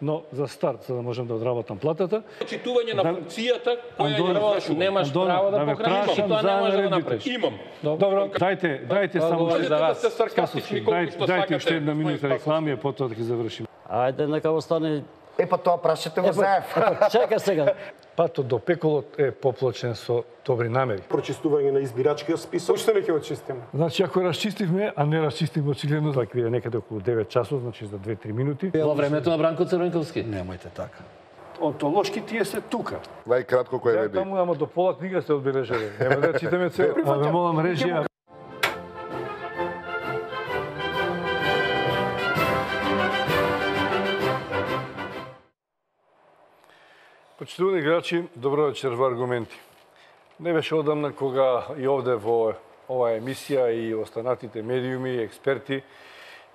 но за старт, за да можам да одработам платата. Читување на функцијата која ја извршувам. Немаш право да покажеш и тоа не можеш да го направиш. Имам. Добро, дайте само дайте уште една минута реклами, а потоа да ги завршиме. Ајде, нека остане. Па тоа прашате го заев. Чека сега. Патот до пеколот е поплачен со добри намери. Прочистување на избирачкиот список. Уште не ќе го чистиме. Значи, ако расчистивме, а не расчистивме очигледно, тоа ќе биде некаде околу 9 часот, значи за 2-3 минути. Во времето на Бранко Црвенковски. Немојте така. Онтолошки тие се тука. Најкратко кој Ја реди. таму, ама до пола книга се одбележали. Нема да читаме цел. А ве молам режија. Почитувани играчи, добро вечер во Аргументи. Не беше одамна кога и овде во оваа емисија и останатите медиуми и експерти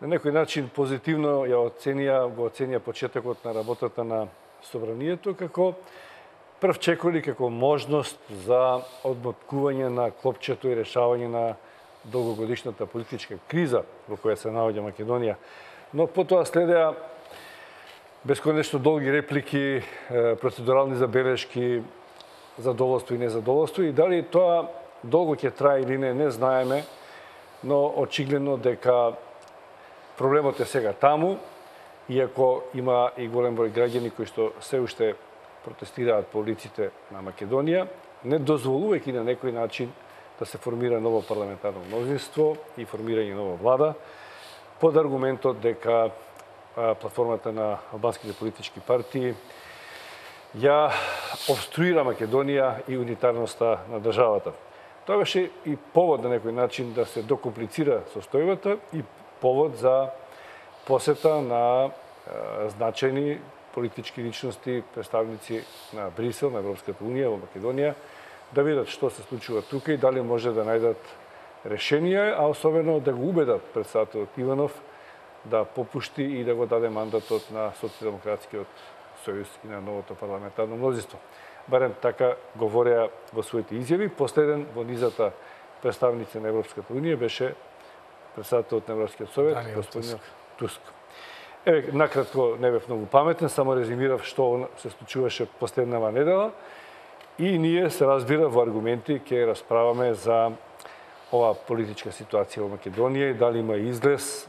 на некој начин позитивно го оценија почетокот на работата на Собранието како прв чекори, како можност за одмоткување на клопчето и решавање на долгогодишната политичка криза во која се наоѓа Македонија. Но потоа следеа бесконечно долги реплики, процедурални забелешки, задоволство и незадоволство, и дали тоа долго ќе трае или не знаеме, но очигледно дека проблемот е сега таму, иако има и голем број граѓани кои што се уште протестираат по улиците на Македонија, не дозволувајќи на некој начин да се формира ново парламентарно мнозинство и формирање нова влада, под аргументот дека платформата на албанските политички партии ја обструира Македонија и унитарноста на државата. Тоа беше и повод на некој начин да се докомплицира состојбата и повод за посета на значајни политички личности, представници на Брисел, на Европската унија во Македонија, да видат што се случува тука и дали може да најдат решение, а особено да го убедат председателот Иванов да попушти и да го даде мандатот на Социјалдемократскиот сојуз и на новото парламентарно мнозинство. Барем така говореа во своите изјави. Последен во низата представници на Европската унија беше председателот на Европскиот совет, господин Туск. Еве, накратко, не бев многу паметен, само резимирав што се случуваше последнава недела и ние се разбира во Аргументи ќе расправаме за оваа политичка ситуација во Македонија и дали има излез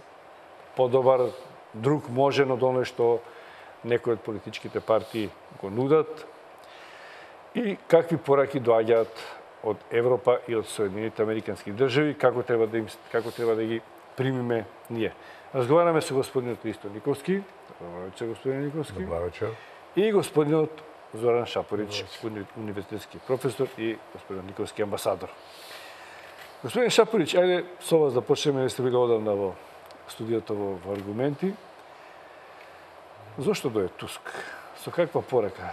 подобар, друг можен од оној што некои од политичките партии го нудат и какви пораки доаѓаат од Европа и од Соединените Американски држави, како треба да ги примиме ние. Разговараме со господинот Ристо Николски, добро вечер господин Николски. Добро вечер. И господинот Зоран Шапорич, универзитетски професор и господин Николски амбасадор. Господин Шапорич, ајде со вас да почнеме, не сте били одамна во студиото во Аргументи. Зошто дое Туск? Со каква порака?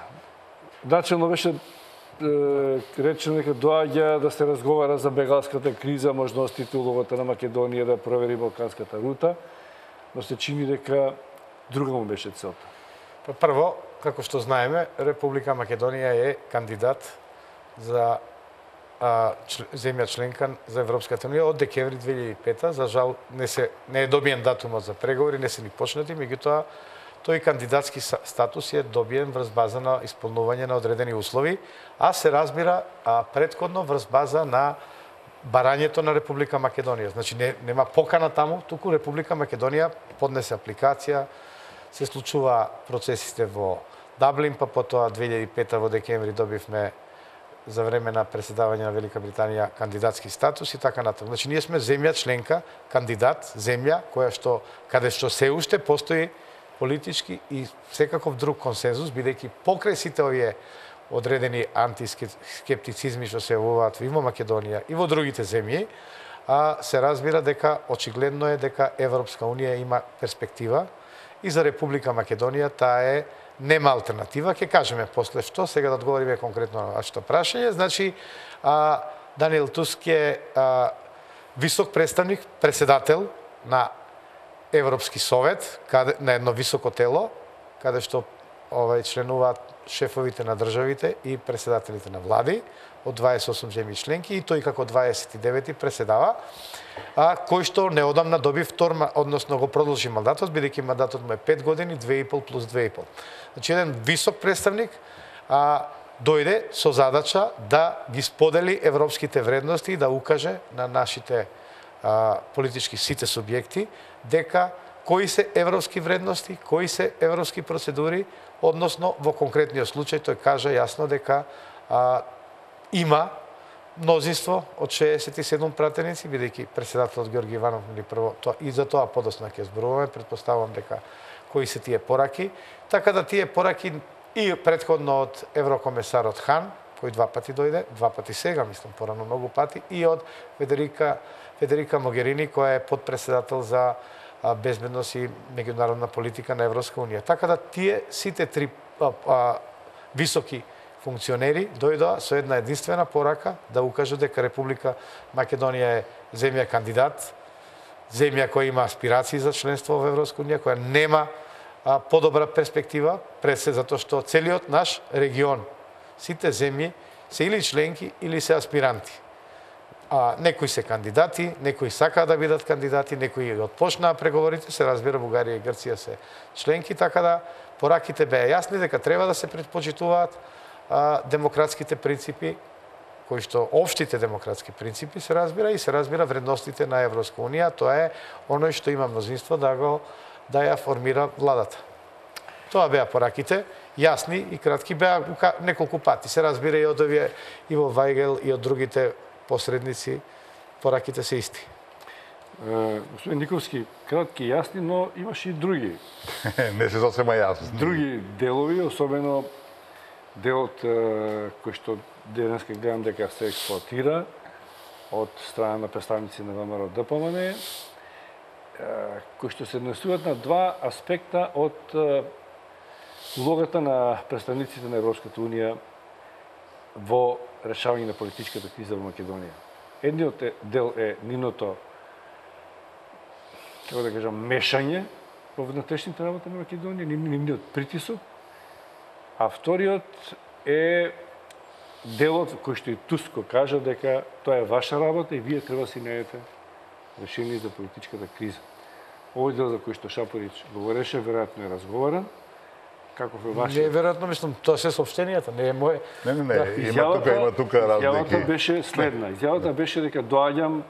Начелно беше речено дека доаѓа да се разговара за бегалската криза, можностите, улогата на Македонија да провери балканската рута, но се чини дека друга му беше целта. Прво, како што знаеме, Република Македонија е кандидат за земја членка за Европската унија од декември 2005. За жал не е добиен датумот за преговори, не се ни почнати, меѓутоа тој кандидатски статус е добиен врз база на исполнување на одредени услови, а се разбира претходно врз база на барањето на Република Македонија. Значи нема покана таму, туку Република Македонија поднесе апликација, се случува процесите во Даблин, па потоа 2005 во декември добивме за време на преседавање на Велика Британија кандидатски статус и така натаму. Значи ние сме земја членка, кандидат, земја каде што се уште постои политички и секаков друг консензус, бидејќи покрај сите овие одредени антискептицизми што се јавуваат и во Македонија и во другите земји, се разбира дека очигледно е дека Европска унија има перспектива и за Република Македонија таа е нема алтернатива. Ќе кажеме после што, сега да одговориме конкретно на вашето прашање. Значи, Даниел Туск е висок представник, председател на Европски совет, на едно високо тело, каде што членуваат шефовите на државите и председателите на влади од 28 земји членки и тој како 29-ти преседава, кој што неодамна доби односно го продолжи мандатот, бидејќи мандатот му е 5 години, 2,5 плюс 2,5. Значи еден висок представник дојде со задача да ги сподели европските вредности и да укаже на нашите политички сите субјекти дека кои се европски вредности, кои се европски процедури, односно во конкретниот случај тој кажа јасно дека има мнозинство од 67 пратеници, бидејќи председателот Ѓорги Иванов прво и за тоа подоцна ќе зборуваме, претпоставувам дека кои се тие пораки, така да тие пораки и претходно од еврокомесарот Хан, кој 2 пати дојде, 2 пати сега, мислам, порано многу пати, и од Федерика Могерини, која е подпредседател за безбедност и меѓународна политика на Европска унија. Така да тие сите три високи функционери дојдоа со една единствена порака да укажат дека Република Македонија е земја кандидат, земја која има аспирации за членство во Европска унија, која нема подобра перспектива, пред се затоа што целиот наш регион, сите земји се или членки или се аспиранти. Некои се кандидати, некои сакаат да бидат кандидати, некои отпочнаа преговорите, се разбира Бугарија и Грција се членки, така да пораките беа јасни дека треба да се предпочитуваат демократските принципи, кои што општите демократски принципи се разбира и се разбира вредностите на Европска унија, тоа е оној што има мнозинство да ја формира владата. Тоа беа пораките, јасни и кратки, беа неколку пати. Се разбира и од овие Иво Вајгел и од другите посредници, пораките се исти. Господин Никовски, кратки и јасни, но имаш и други. Не се сосема јасни. Други делови, особено делот кој што денеска гледам дека се експлоатира од страна на представници на ВМРО ДПМН, кои што се однесуваат на два аспекта од улогата на представниците на Европската унија во решавање на политичката криза во Македонија. Едниот дел е нивното, како да кажам, мешање во внатрешните работи на Македонија, нивниот притисок, а вториот е делот кој што и Туско кажа дека тоа е ваша работа и вие треба да си најдете решение за политичката криза. Овој дел за кој што Шапорич говореше, веројатно е разговаран. Каков е вашиот? Не, веројатно, мислам, тоа се соопштенијата, не е моје. Не, има тука разлики. Изјавата беше следна. Изјавата беше дека доаѓам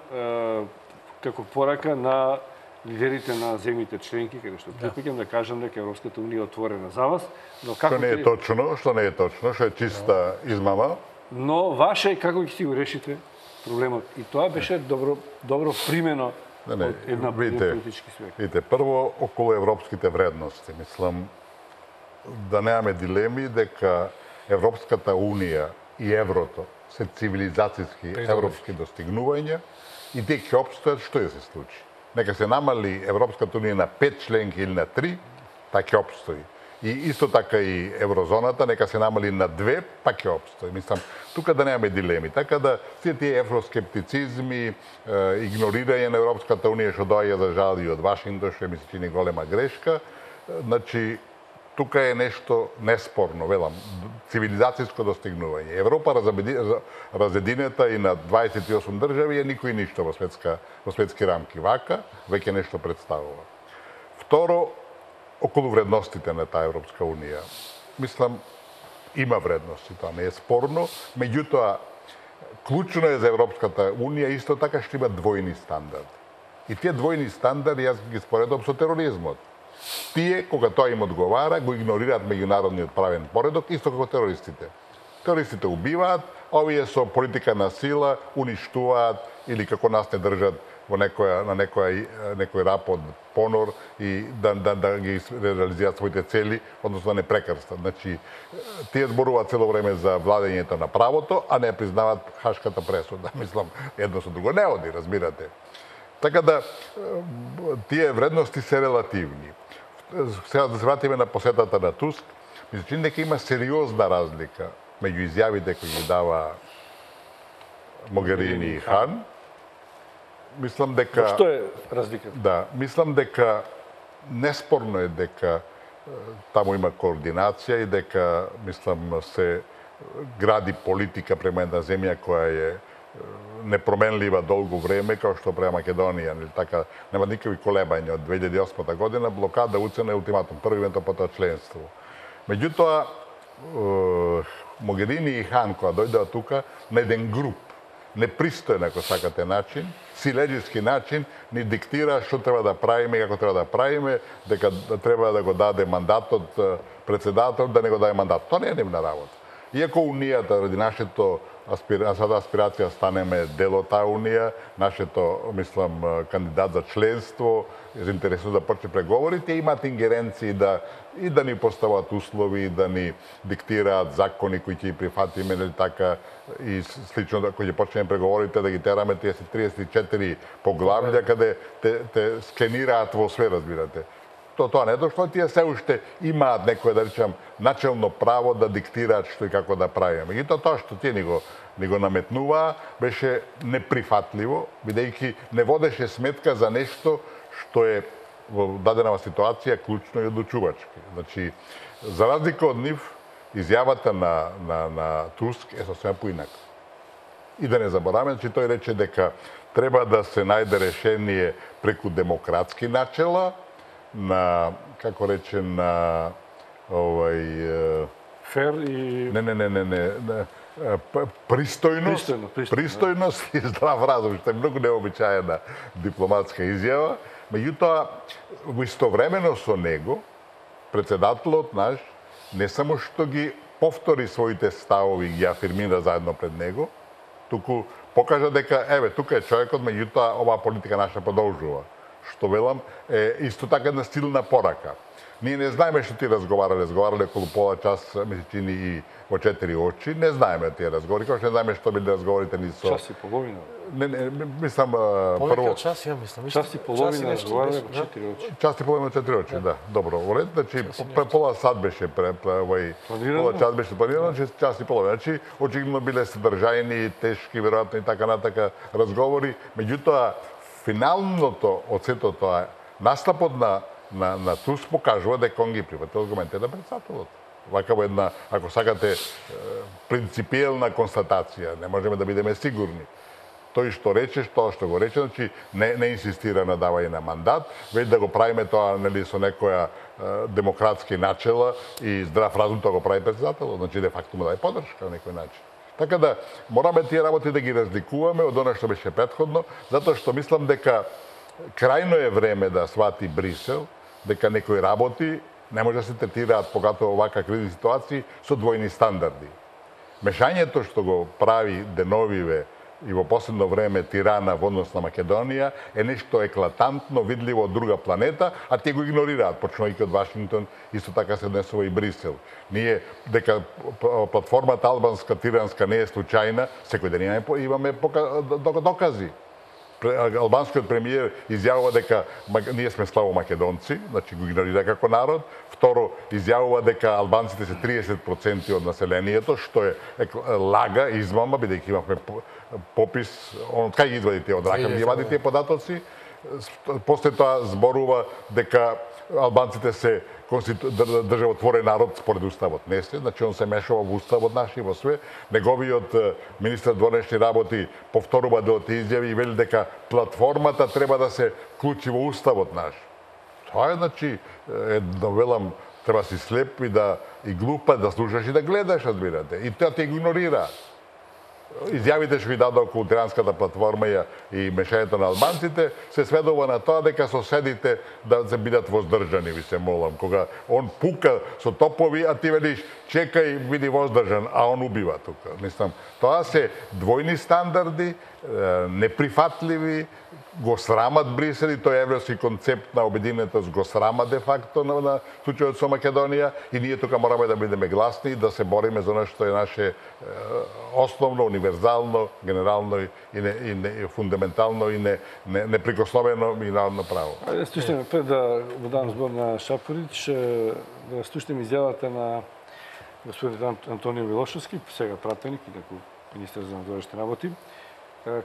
како порака на лидерите на земјите членки, каде што припаѓам да кажам дека Европската унија е отворена за вас, но како Што не е точно, што е чиста измама. Но ваше е како ќе си го решите проблемот. И тоа беше добро примено од една политички свет. Видите, прво околу европските вредности, мислам да немаме дилеми дека Европската унија и еврото се цивилизацијски европски достигнувања и тие ќе опстојат што ќе се случи. Нека се намали Европската унија на 5 членки или на 3, па ќе опстои. И исто така и еврозоната, нека се намали на 2, па ќе опстои. Мислам, тука да немаме дилеми. Така да сите тие евроскептицизми, игнорирање на Европската унија што доаѓа за жал и од Вашингтон, што ми се чини голема грешка, значи тука е нешто неспорно, велам, цивилизацијско достигнување. Европа разединета и на 28 држави е никој ништо во светски рамки. Вака, веќе нешто представува. Второ, околу вредностите на таа Европска унија. Мислам, има вредности, тоа не е спорно, меѓутоа, клучно е за Европската унија исто така што има двојни стандарди. И тие двојни стандарди јас ги споредувам со тероризмот. Тие, кога тоа им одговара, го игнорираат меѓународниот правен поредок, исто како терористите. Терористите убиваат, а овие со политика на сила уништуваат или како нас не држат во некој рап од понор и да ги реализираат своите цели, односно да не прекрстат. Значи, тие зборуваат цело време за владењето на правото, а не признаваат Хашката пресуда. Мислам, едно со друго не оди, разбирате. Така да, тие вредности се релативни. Сега да се вратиме на посетата на Туск, ми се чини дека има сериозна разлика меѓу изјавите кои ги дава Могерини и Хан. Мислам дека... Што е разликата? Да, мислам дека неспорно е дека таму има координација и дека, мислам, се гради политика према една земја која е непроменлива долго време, како што према Македонија, нели така, нема никакви колебања од 2008 година, блокада, уцена и ултиматум, првиот потоа членство. Меѓутоа, Могерини и Хан, кога дојдоа тука, на еден груп, непристоен, ако сакате, начин, силеџиски начин, ни диктира што треба да правиме и како треба да правиме, дека треба да го даде мандатот председател, да не го даде мандат. Тоа не е нивна работа. Иако Унијата, ради нашето аспирација станеме дел од таа Унија, нашето, мислам, кандидат за членство, заинтересуван да почне преговорите, имаат ингеренции да ни постават услови, и да ни диктираат закони кои ќе ги прифатиме, нели така, и слично, кои ќе почнеме преговорите, да ги тераме тие 34 поглавја, каде те скенираат во све, разбирате. Тоа не дошло, тие се уште имаат некој, да речам, начелно право да диктираат што и како да правиме. И тоа што тие ни го наметнуваа, беше неприфатливо, бидејќи не водеше сметка за нешто што е во дадена ситуација клучно и одлучувачки. Значи, за разлика од нив, изјавата на Туск е сосема поинака. И да не забораваме, че тој рече дека треба да се најде решение преку демократски начела, на, како рече, на фер и пристојност и здрав разум, што е многу необичаена дипломатска изјава. Меѓутоа, истовремено со него, председателот наш не само што ги повтори своите ставови и ги афирмира заедно пред него, туку покажа дека, еве, тука е човекот, меѓутоа, оваа политика наша продолжува. Што велам, е исто така една силна порака. Ние не знаеме што ти разговарале околу пола час, ми се чини и во 4 очи, не знаеме тие разговори, како што не знаеме што биле разговорите ни со... Час и половина. Не, мислам, прво... час, ја мислам. Час и половина разговарале во 4 очи. Час и половина во 4 очи, да. Добро, во ред, значи, пола сат беше пола час беше планирано, час и половина. Значи, очигледно биле содржајни, тешки, веројатно и така натака разговори. Меѓутоа, финалното од сето тоа, настапот на Туск покажува дека он ги прифатил аргументите на председателот. Вака во една, ако сакате, принципиелна констатација, не можеме да бидеме сигурни. Тој што рече, тоа што го рече, значи не инсистира на давање на мандат, веќе да го правиме тоа, нели, со некоја демократски начела и здрав разум, тоа го прави председателот, значи де факто му даде поддршка на некој начин. Така да, мораме тие работи да ги разликуваме од она што беше претходно, затоа што мислам дека крајно е време да свати Брисел, дека некои работи не може да се третираат, поготово овака кризни ситуации, со двојни стандарди. Мешањето што го прави деновиве и во последно време Тирана во однос на Македонија е нешто еклатантно, видливо од друга планета, а тие го игнорираат, почнувајќи од Вашингтон, исто така се однесува и Брисел. Ние, дека платформата албанска, тиранска не е случајна, секој ден имаме докази. Албанскиот премиер изјавува дека ние сме слабо македонци, значи го игнорира како народ. Второ, изјавува дека албанците се 30% од населението, што е лага, измама, бидејќи имавме попис, од кај ги извади тие, од рака ги вади тие податоци. После тоа зборува дека албанците се државотворен народ според уставот. Не се, значи он се мешава во уставот наш и во све. Неговиот министар дворешни работи повторува делот изјави и вели дека платформата треба да се вклучи во уставот наш. Тоа е, значи, велам, треба си слеп и глупа да слушаш и да гледаш, разбирате. И тоа те игнорира. Изјавите што ги даде околу тиранската платформа и мешањето на албанците се сведува на тоа дека соседите да се бидат воздржани, ви се молам. Кога он пука со топови, а ти велиш чекај, биди воздржан, а он убива тука. Мислам, тоа се двојни стандарди, неприфатливи, го срамат Брисел и тој европски концепт на обединетост го срама де факто на случајот со Македонија и ние тука мораме да бидеме гласни и да се бориме за нешто е наше основно, универзално, генерално и фундаментално и неприкосновено минарно право. Ајде да слушнеме пред да го дам збор на Шапорич, да слушнеме изјавата на господин Антонио Милошевски, сега пратеник и како министер за надворешни работи,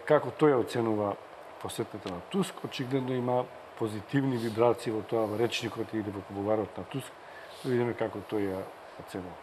како тој оценува посетата на Туск. Очигледно има позитивни вибрации во тоа, во речникот или во кулуарот на Туск, видиме како тој ја оценува.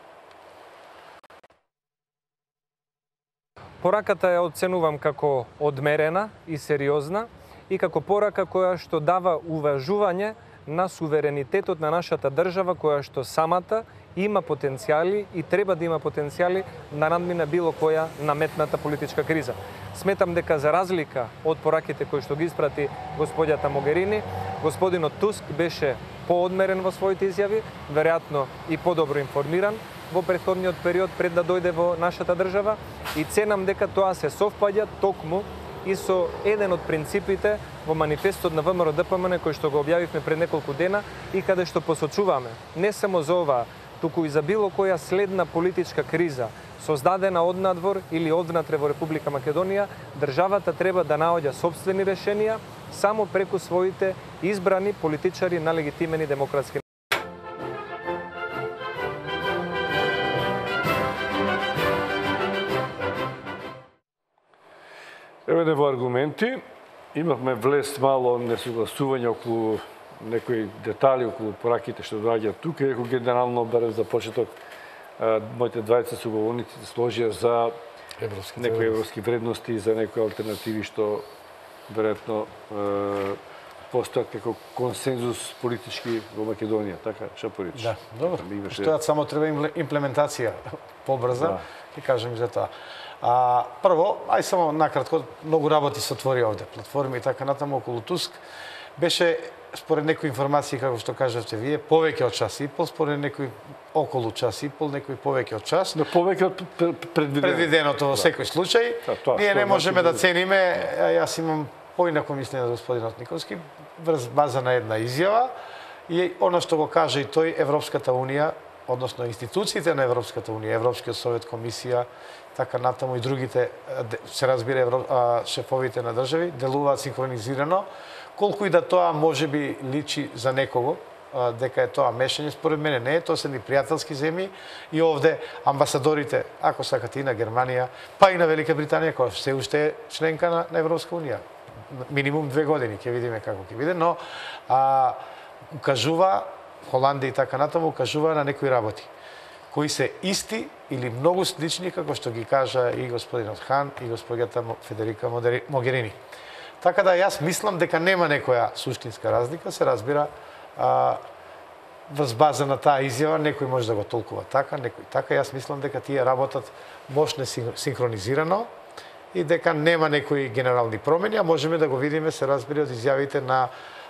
Пораката ја оценувам како одмерена и сериозна и како порака која што дава уважување на суверенитетот на нашата држава, која што самата има потенцијали и треба да има потенцијали да надмине било која наметната политичка криза. Сметам дека за разлика од пораките кои што ги испрати господјата Могерини, господинот Туск беше поодмерен во своите изјави, веројатно и подобро информиран во претходниот период пред да дојде во нашата држава и ценам дека тоа се совпаѓа токму и со еден од принципите во манифестот на ВМРО-ДПМН кој што го објавивме пред неколку дена и каде што посочуваме не само за оваа, туку и за било која следна политичка криза создадена однадвор или одвнатре во Република Македонија, државата треба да наоѓа сопствени решенија само преку своите избрани политичари на легитимени демократски. Еве во аргументи, имавме влез мало несогласување околу некои детали околу пораките што доаѓаат тука, иако генерално барем за почеток моите двајца суговорници се сложија за некои европски вредности и за некои алтернативи што веројатно постојат како консензус политички во Македонија, така Шапорич? Да, добро. Што само треба имплементација побрза, ќе кажем за тоа. Прво, ај само накратко, многу работи се отвори овде, платформи и така натаму околу Туск. Беше, според некои информации, како што кажавте вие, повеќе од час и пол, според некои околу час и пол, некои повеќе од час. Но повеќе од предвиденото во секој случај. Ние не можеме да цениме, јас имам поинако мислење на господинот Николски, врз база на една изјава и она што го кажа и тој, Европската Унија, односно институциите на Европската Унија, Европскиот совет, комисија, така натаму и другите, се разбира шефовите на држави, делуваат синхронизирано, колку и да тоа можеби личи за некого, дека е тоа мешање, според мене не е, тоа се ни пријателски земји и овде амбасадорите, ако сакате и на Германија, па и на Велика Британија, која се уште е членка на Европска Унија. Минимум 2 години, ќе видиме како ќе биде, но укажува, Холандија и така натаму, укажува на некои работи, кои се исти или многу слични, како што ги кажа и господинот Хан и господјата Федерика Могерини. Така да јас мислам дека нема некоја суштинска разлика, се разбира, врз база на таа изјава, некој може да го толкува така, некој така. Јас мислам дека тие работат мощно синхронизирано и дека нема некои генерални промени, а можеме да го видиме, се разбира, од изјавите на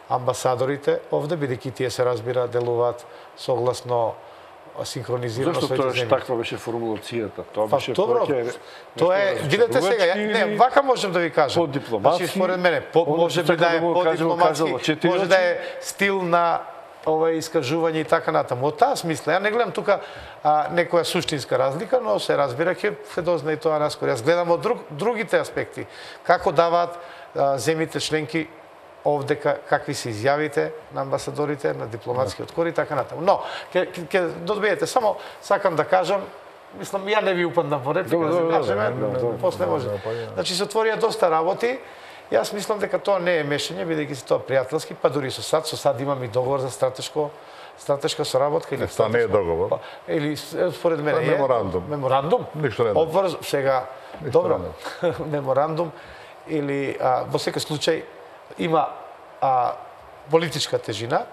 амбасадорите овде, бидејќи тие, се разбира, делуваат согласно синхронизирано своите земји. Зошто тоа таква беше формулацијата? Тоа беше тоа е, видете сега, не, вака можем да ви кажам. Подипломатски. Значи, според мене, може би да е подипломатски, може да е стил на ова искажување и така натаму. Од таа смисла, ја не гледам тука некоја суштинска разлика, но се разбира, ќе се дознае и тоа наскоро. Јас гледам од другите аспекти, како даваат земјите членки овде какви се изјавите на амбасадорите, на дипломатскиот кор и така натаму. Но, ќе добиете, само сакам да кажам, мислам, ја не ви упаднам во реплика, да кажеме, после може. Значи, се отворија доста работи, јас мислам дека тоа не е мешање, бидејќи се тоа пријателски, па дури со САД имаме и договор за стратешка соработка. Тоа не е договор. Или, според мене, е... Меморандум. Меморандум? Ништо не е. Сега, добро, меморандум, или во секој случај, има политичка тежина,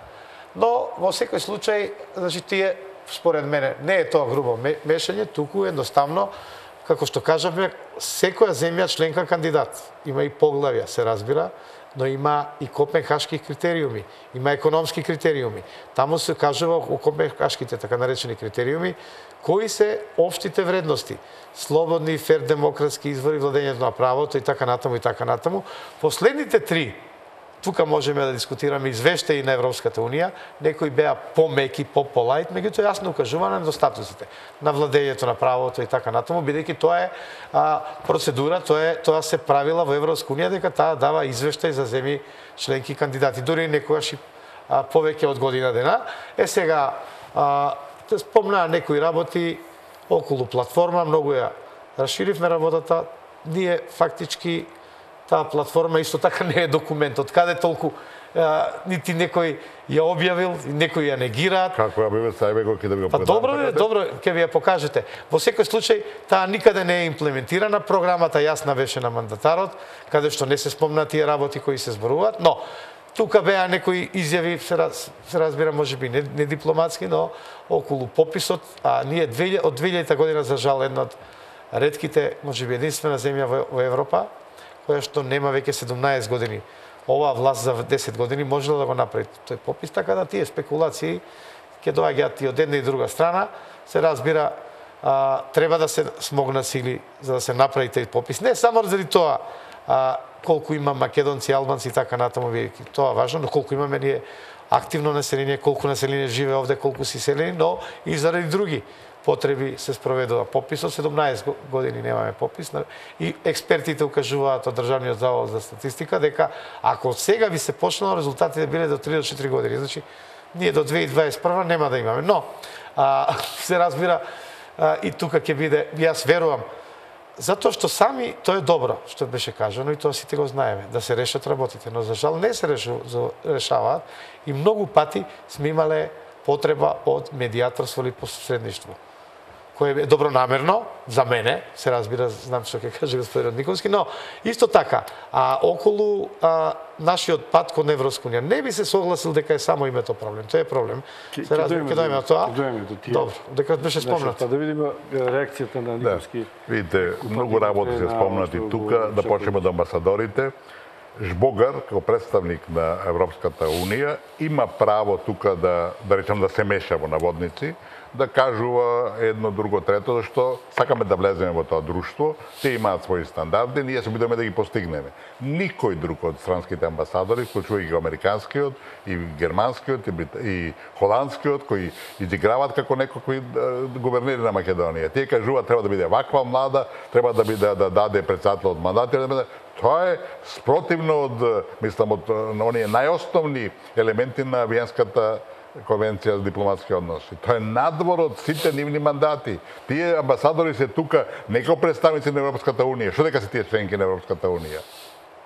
но во секој случај, значи, тие, според мене, не е тоа грубо мешање, туку едноставно, како што кажавме, секоја земја членка кандидат. Има и поглавја, се разбира, но има и копенхашки критериуми, има економски критериуми. Таму се кажува у копенхашките, така наречени критериуми, кои се општите вредности. Слободни, фер, демократски извори, владењето на правото и така натаму и така натаму. Последните 3, тука можеме да дискутираме извештаи на Европската Унија, некои беа помеки, по-полајт, меѓутоа јасно укажува на недостатоците, на владењето на правото и така натаму, бидејќи тоа е процедура, тоа се правила во Европска Унија, дека таа дава извештај за земји членки кандидати, дури некогаш и повеќе од година дена. Сега, те спомнаа некои работи околу платформа, многу ја расширивме работата, ние фактички таа платформа исто така не е документ. Од каде толку нити некој ја објавил, некој ја негираат. Како ја биве сајбе го ќе да ви го Па предам, добро, така да? добро, ќе ви ја покажете. Во секој случај, таа никаде не е имплементирана, програмата јасна беше на мандатарот, каде што не се спомна тие работи кои се зборуваат, но тука беа некои изјави, се разбира, можеби не дипломатски, но околу пописот, а ние од 2000 година, за жал, една од ретките, можеби единствена земја во Европа, која што нема веќе 17 години. Оваа власт за 10 години можела да го направи тој попис, така да тие спекулации ќе доаѓаат и од една и друга страна. Се разбира, треба да се смогнат сили за да се направи тој попис. Не само заради тоа колку има македонци, албанци и така натаму, бидејќи тоа важно, но колку имаме ние активно население, колку население живее овде, колку си селени, но и заради други потреби се спроведува пописот. 17 години немаме попис и експертите укажуваат од Државниот завод за статистика дека ако сега би се почнало, резултатите биле до 3 до 4 години. Значи, ние до 2021 нема да имаме. Но, се разбира, и тука ќе биде, јас верувам, затоа што сами, тоа е добро, што беше кажано и тоа сите го знаеме, да се решат работите, но за жал не се решаваат и многу пати сме имале потреба од медијаторство или посредништво, кое е добронамерно за мене, се разбира, знам што ќе каже господин Николски, но исто така, околу нашиот пат кон Европска унија, не би се согласил дека е само името проблем, тоа е проблем. Се разбира, ќе дојме до тоа. Добро, дека беше спомнат. Да видиме реакцијата на Николски. Видите, многу работи се спомнати тука, да почнеме од амбасадорите. Жбогар, како представник на Европската Унија, има право тука да речем да се меша во наводници, да кажува едно, друго, трето, зашто сакаме да влеземе во тоа друштво, те имаат своји стандарди, ние се бидеме да ги постигнеме. Никој друг од странските амбасадори, вклучувајќи го американскиот, и германскиот, и холандскиот, кои изиграваат како некои гувернери на Македонија. Тие кажуваат треба да биде ваква млада, треба да биде да даде председател од мандат, тоа е спротивно од, мислам, од оние најосновни елементи на Виенската конвенција за дипломатски односи. Тоа е надвор од сите нивни мандати. Тие амбасадори се тука не како представници на Европската Унија. Што дека се тие членки на Европската Унија?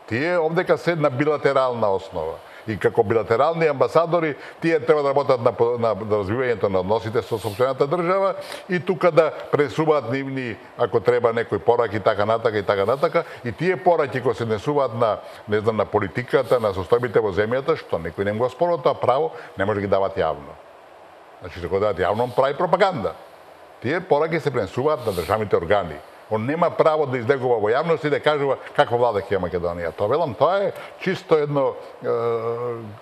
Тие овдека се на билатерална основа. И како билатерални амбасадори, тие треба да работат на развивањето на односите со сопствената држава и тука да пресуваат нивни, ако треба, некои пораки, така натака. И тие пораки кои се несуваат на, не знам, на политиката, на состојбите во земјата, што некој не го спорува тоа право, не може да ги дават јавно. Значи, ако дават јавно, прави пропаганда. Тие пораки се пренесуваат на државните органи. Он нема право да излегува во јавност и да кажува каква влада ќе Македонија. Тоа велам, тоа е чисто едно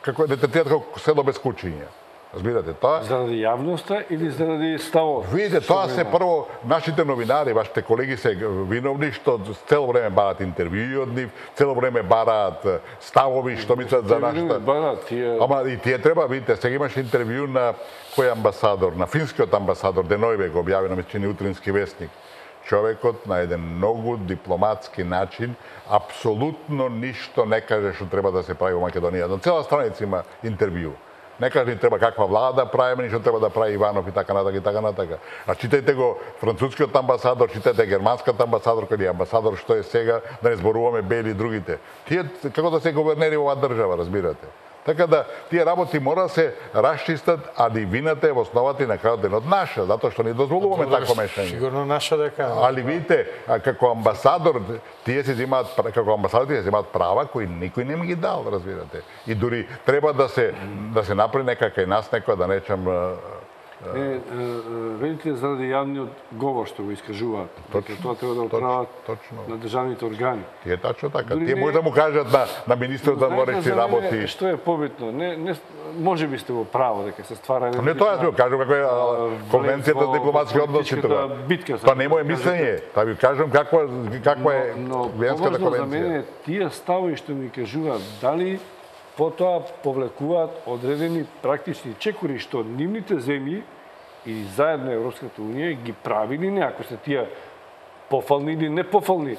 како да третираат како село без кучиња. Разбирате тоа? Заради јавноста или заради ставот? Видите, тоа се прво нашите новинари, вашите колеги се виновни што цело време бараат интервјуи од нив, цело време бараат ставови што мислат за нашата. Ама и тие треба, видите, сега имаше интервју на кој амбасадор, на финскиот амбасадор Денојве го објави на мислени Утрински вестник. Човекот на еден многу дипломатски начин апсолутно ништо не каже што треба да се прави во Македонија. На цела страница има интервју. Не каже ни треба каква влада правиме, ништо треба да прави Иванов и така натака. А читајте го францускиот амбасадор, читајте германскиот амбасадор, кој е амбасадор што е сега, да не зборуваме Бели и другите. Тие како да се гувернери во оваа држава, разбирате. Така да тие работи мора да се расчистат, а и вината е во основата и на крајот денот наша, затоа што не дозволуваме такво мешање. Сигурно наша дека. Али видите, како амбасадор тие се земаат права кои никој не ми ги дал, разбирате. И дури треба да се направи некака и нас некоја да речам Велите заради јавниот говор што го искажуваат. Тоа треба да отправат на државните органи. Тие тачно така. Тие може да му кажат на министерот за дворечни работи. Што е побитно? Може би сте во право дека се ствара Не тоа ја кажам како е конвенцијата за дипломатски односи тоа. Тоа не е моје мислење. Тоа ви кажам каква е Виенската конвенција. За мене тие ставови што ми кажуваат дали потоа повлекуваат одредени практични чекори што нивните земји и заедно Европската Унија ги правили не, ако се тие пофални или непофални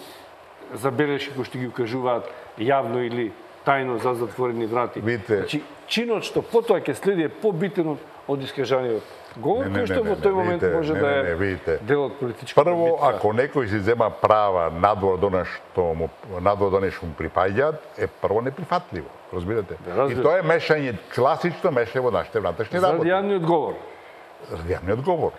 забелешки кои што ги укажуваат јавно или тајно за затворени врати. Видите. Значи, чинот што потоа ќе следи е побитен од искажаниот говор, кој што во тој момент може да е дел од политичката Прво, битка. ако некој си зема права надвор до нешто му припаѓаат, е прво неприфатливо, разбирате? И тоа е мешање, класично мешање во нашите внатрешни работи. За јавниот говор. Јавниот говор.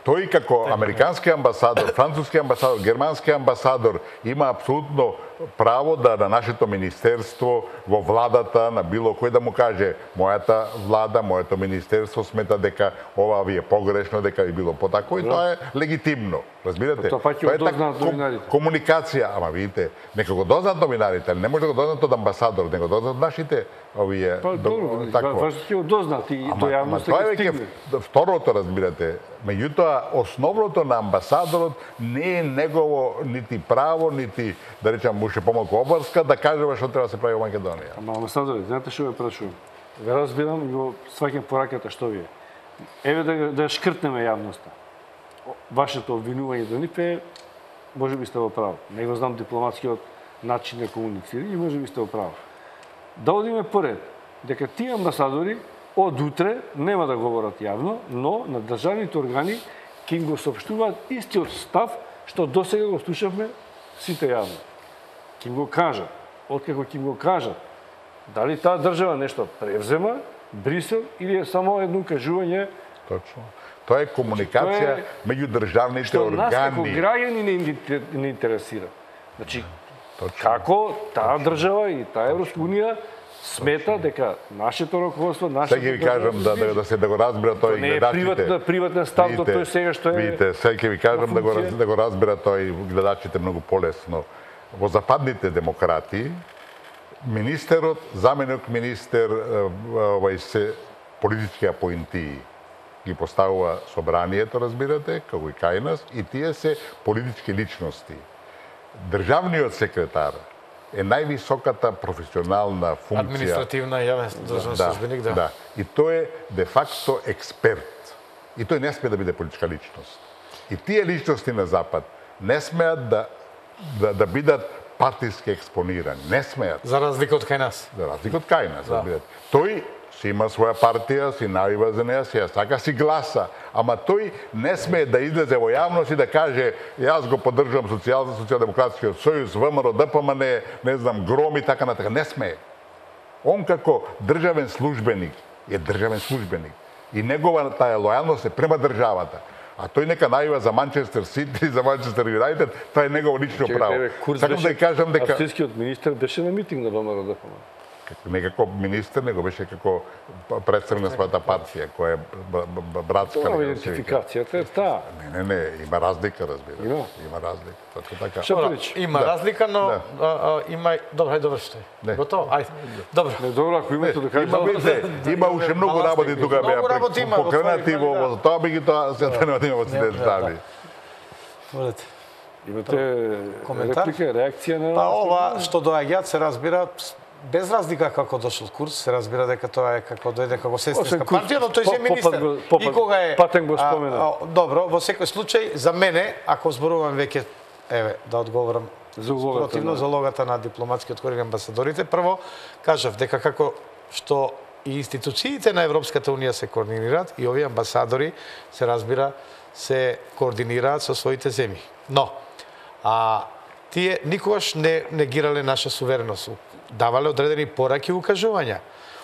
Тој како американски амбасадор, француски амбасадор, германски амбасадор има апсолутно право да на нашето министерство, во владата, на било кој да му каже мојата влада, моето министерство смета дека ова ви е погрешно, дека би било потако и тоа е легитимно. Разбирате? Тоа паќе дознаат новинарите. Комуникација, ама видите, нека го дознаат новинарите, не може да го дознаат од амбасадор, него дознаат нашите овие Важно ќе го дознаат и до јавноста ќе стигне. Второто, разбирате, меѓутоа основното на амбасадорот не е негово нити право, нити да речам уште помалку обврска да кажува што треба да се прави во Македонија. Ама амбасадорот, знаете што ве прашувам? Ве разбирам и го сваќам пораката што ви е. Еве да шкртнеме јавноста. Вашето обвинување до нив е, може би сте во право. Не го знам дипломатскиот начин на комуницирање, може би сте во право. Да одиме поред, дека тие амбасадори од утре нема да говорат јавно, но на државните органи ќе им го соопштуваат истиот став што досега го слушавме сите јавно. Ќе им го кажат, откако ќе им го кажат, дали таа држава нешто превзема, Брисел, или е само едно кажување. Точно. Тоа е комуникација меѓу државните што органи. нас како граѓани не интересира. Значи, како таа држава и таа Европска унија смета дека нашето раководство, нашето Сега ви кажам да го разбира тој не е приватен став до тој сега што е. Видите, сега ви кажам да го разбира тој гледачите многу полесно. Во западните демократи министерот, заменик министер, се политички апоинтии ги поставува собранието, разбирате, како и кај нас, и тие се политички личности. Државниот секретар е највисоката професионална функција. Административна јавен државен службеник, да. И тој е де факто експерт. И тој не смее да биде политичка личност. И тие личности на Запад не смеат да бидат партиски експонирани. Не смеат. За разлика од кај нас. За разлика од кај нас, разбирате. Тој си има своја партија, си најва за неја, си ја сака, си гласа. Ама тој не смее да излезе во јавност и да каже јас го поддржувам социјалдемократскиот сојуз, ВМРО, ДПМН, не знам, Гром и така натака. Не смее. Он како државен службеник е државен службеник. И негова таа лојалност е према државата. А тој нека најва за Манчестер Сити, за Манчестер Юнајтед, тоа е негово лично право. Сакам да кажам дека австријскиот министер беше на митинг на ВМРО ДПМН. Не како министер, него беше како представник на својата партија, која е братска. Тоа идентификацијата е таа. Не, има разлика, разбира. Има разлика. Точно така. Има разлика, но има... Добро, ајде довршите. Готово? Ајде. Добро. Не, добро, ако имате да кажете. Има уште многу работи тука беа покренати во тоа би ги тоа се да во сите стави. Волете. Имате реплика, реакција на... Па ова што доаѓаат се разбира без разлика како дошол Курц, се разбира дека тоа е како дојде како сестринска партија, но тој е министер. И кога е Патен го спомена. Добро, во секој случај за мене, ако зборувам веќе да одговорам противно за улогата на дипломатскиот корпус и амбасадорите, прво кажав дека како што и институциите на Европската унија се координираат и овие амбасадори се разбира се координираат со своите земји. Но тие никогаш не негирале наша сувереност. Давале одредени пораки и укажувања.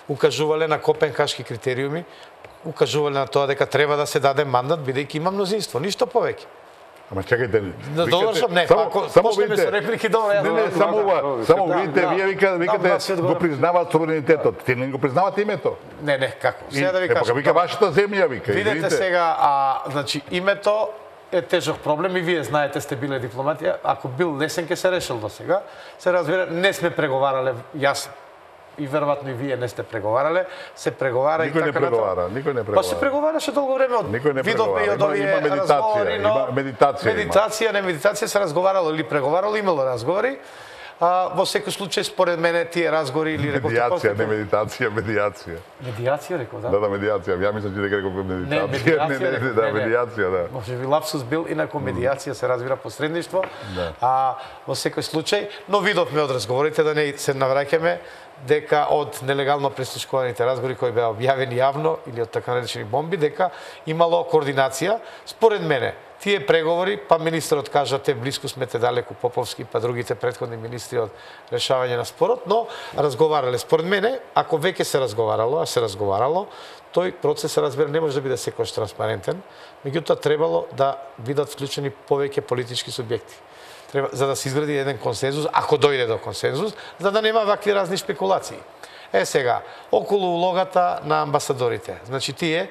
Укажувале на копенхашки критериуми, укажувале на тоа дека треба да се даде мандат бидејќи има мнозинство, ништо повеќе. Ама чекајте, довршам, не, ако почнеме со реплики, добро, јас не, само видите, вие викате го признаваат суверенитетот, ти не го признавате името. Не, како? Сега да ви кажам. Вика вашата земја, вика. Видете сега, значи името е тежок проблем и вие знаете, сте биле дипломати, ако бил лесен ке се решил до сега. Се разбира, не сме преговарале, јас и веројатно и вие не сте преговарале, се преговара никој и така натаму. Никој не преговара. Па се преговараше долго време, видовме и од овие разговори, но медитација, не медитација, се разговарало или преговарало, имало разговори, Во секој случај, според мене, тие разговори или рековте Медиација, не медитација, медиација. Медиација, реков, да? Да, медиација. Ја мислам че дека реков медитација. медиација, Да, медиација, да. Може би лапсус бил, инаку медиација се разбира посредништво. Во секој случај, но видовме од разговорите да не се навраќаме дека од нелегално прислушкуваните разговори кои беа објавени јавно или од така наречени бомби, дека имало координација. Според мене, тие преговори, па министрот кажа, те блиску смете далеку Поповски, па другите претходни министри од решавање на спорот, но разговарале. Според мене, ако веќе се разговарало, тој процес, се разбира, не може да биде секојаш транспарентен, меѓутоа требало да бидат вклучени повеќе политички субјекти. За да се изгради еден консензус, ако дојде до консензус, за да нема вакви разни спекулации. Сега, околу улогата на амбасадорите. Значи, тие,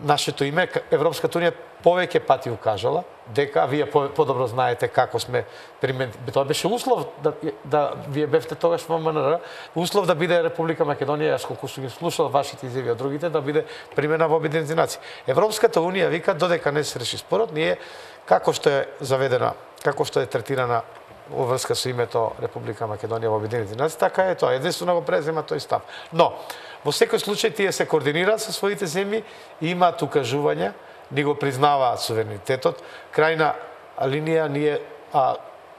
нашето име, Европската унија повеќе пати укажала дека вие подобро знаете како сме тоа беше услов да вие бевте тогаш во МНР, услов да биде Република Македонија, јас колку сум ги слушал вашите изјави од другите, да биде примена во Обединените нации. Европската унија вика додека не се реши спорот, ние како што е заведена, како што е третирана во врска со името Република Македонија во Обединените нации, така е тоа. Единствено го презема тој став. Но во секој случај тие се координираат со своите земји и имаат укажувања, ни го признаваат суверенитетот. Крајна линија ние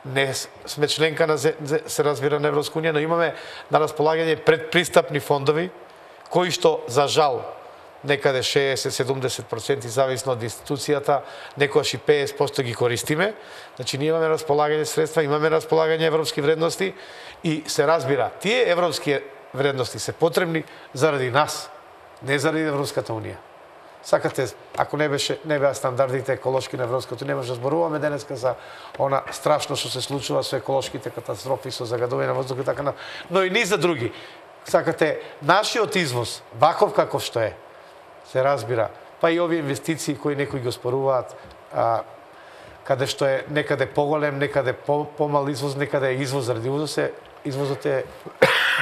не сме членка на се разбира на Европска унија, но имаме на располагање предпристапни фондови кои што за жал некаде 60-70% зависно од институцијата, некојаш и 50% ги користиме. Значи ние имаме располагање средства, имаме располагање европски вредности и се разбира, тие европски вредности се потребни заради нас, не заради Европската унија. Сакате, ако не беа стандардите еколошки на Европската унија, може да зборуваме денеска за она страшно што се случува со еколошките катастрофи, со загадување на воздухот, така, но и низ за други. Сакате, нашиот извоз, ваков каков што е, се разбира, па и овие инвестиции кои некои го споруваат, каде што е некаде поголем, некаде помал извоз, некаде е извоз заради извозот е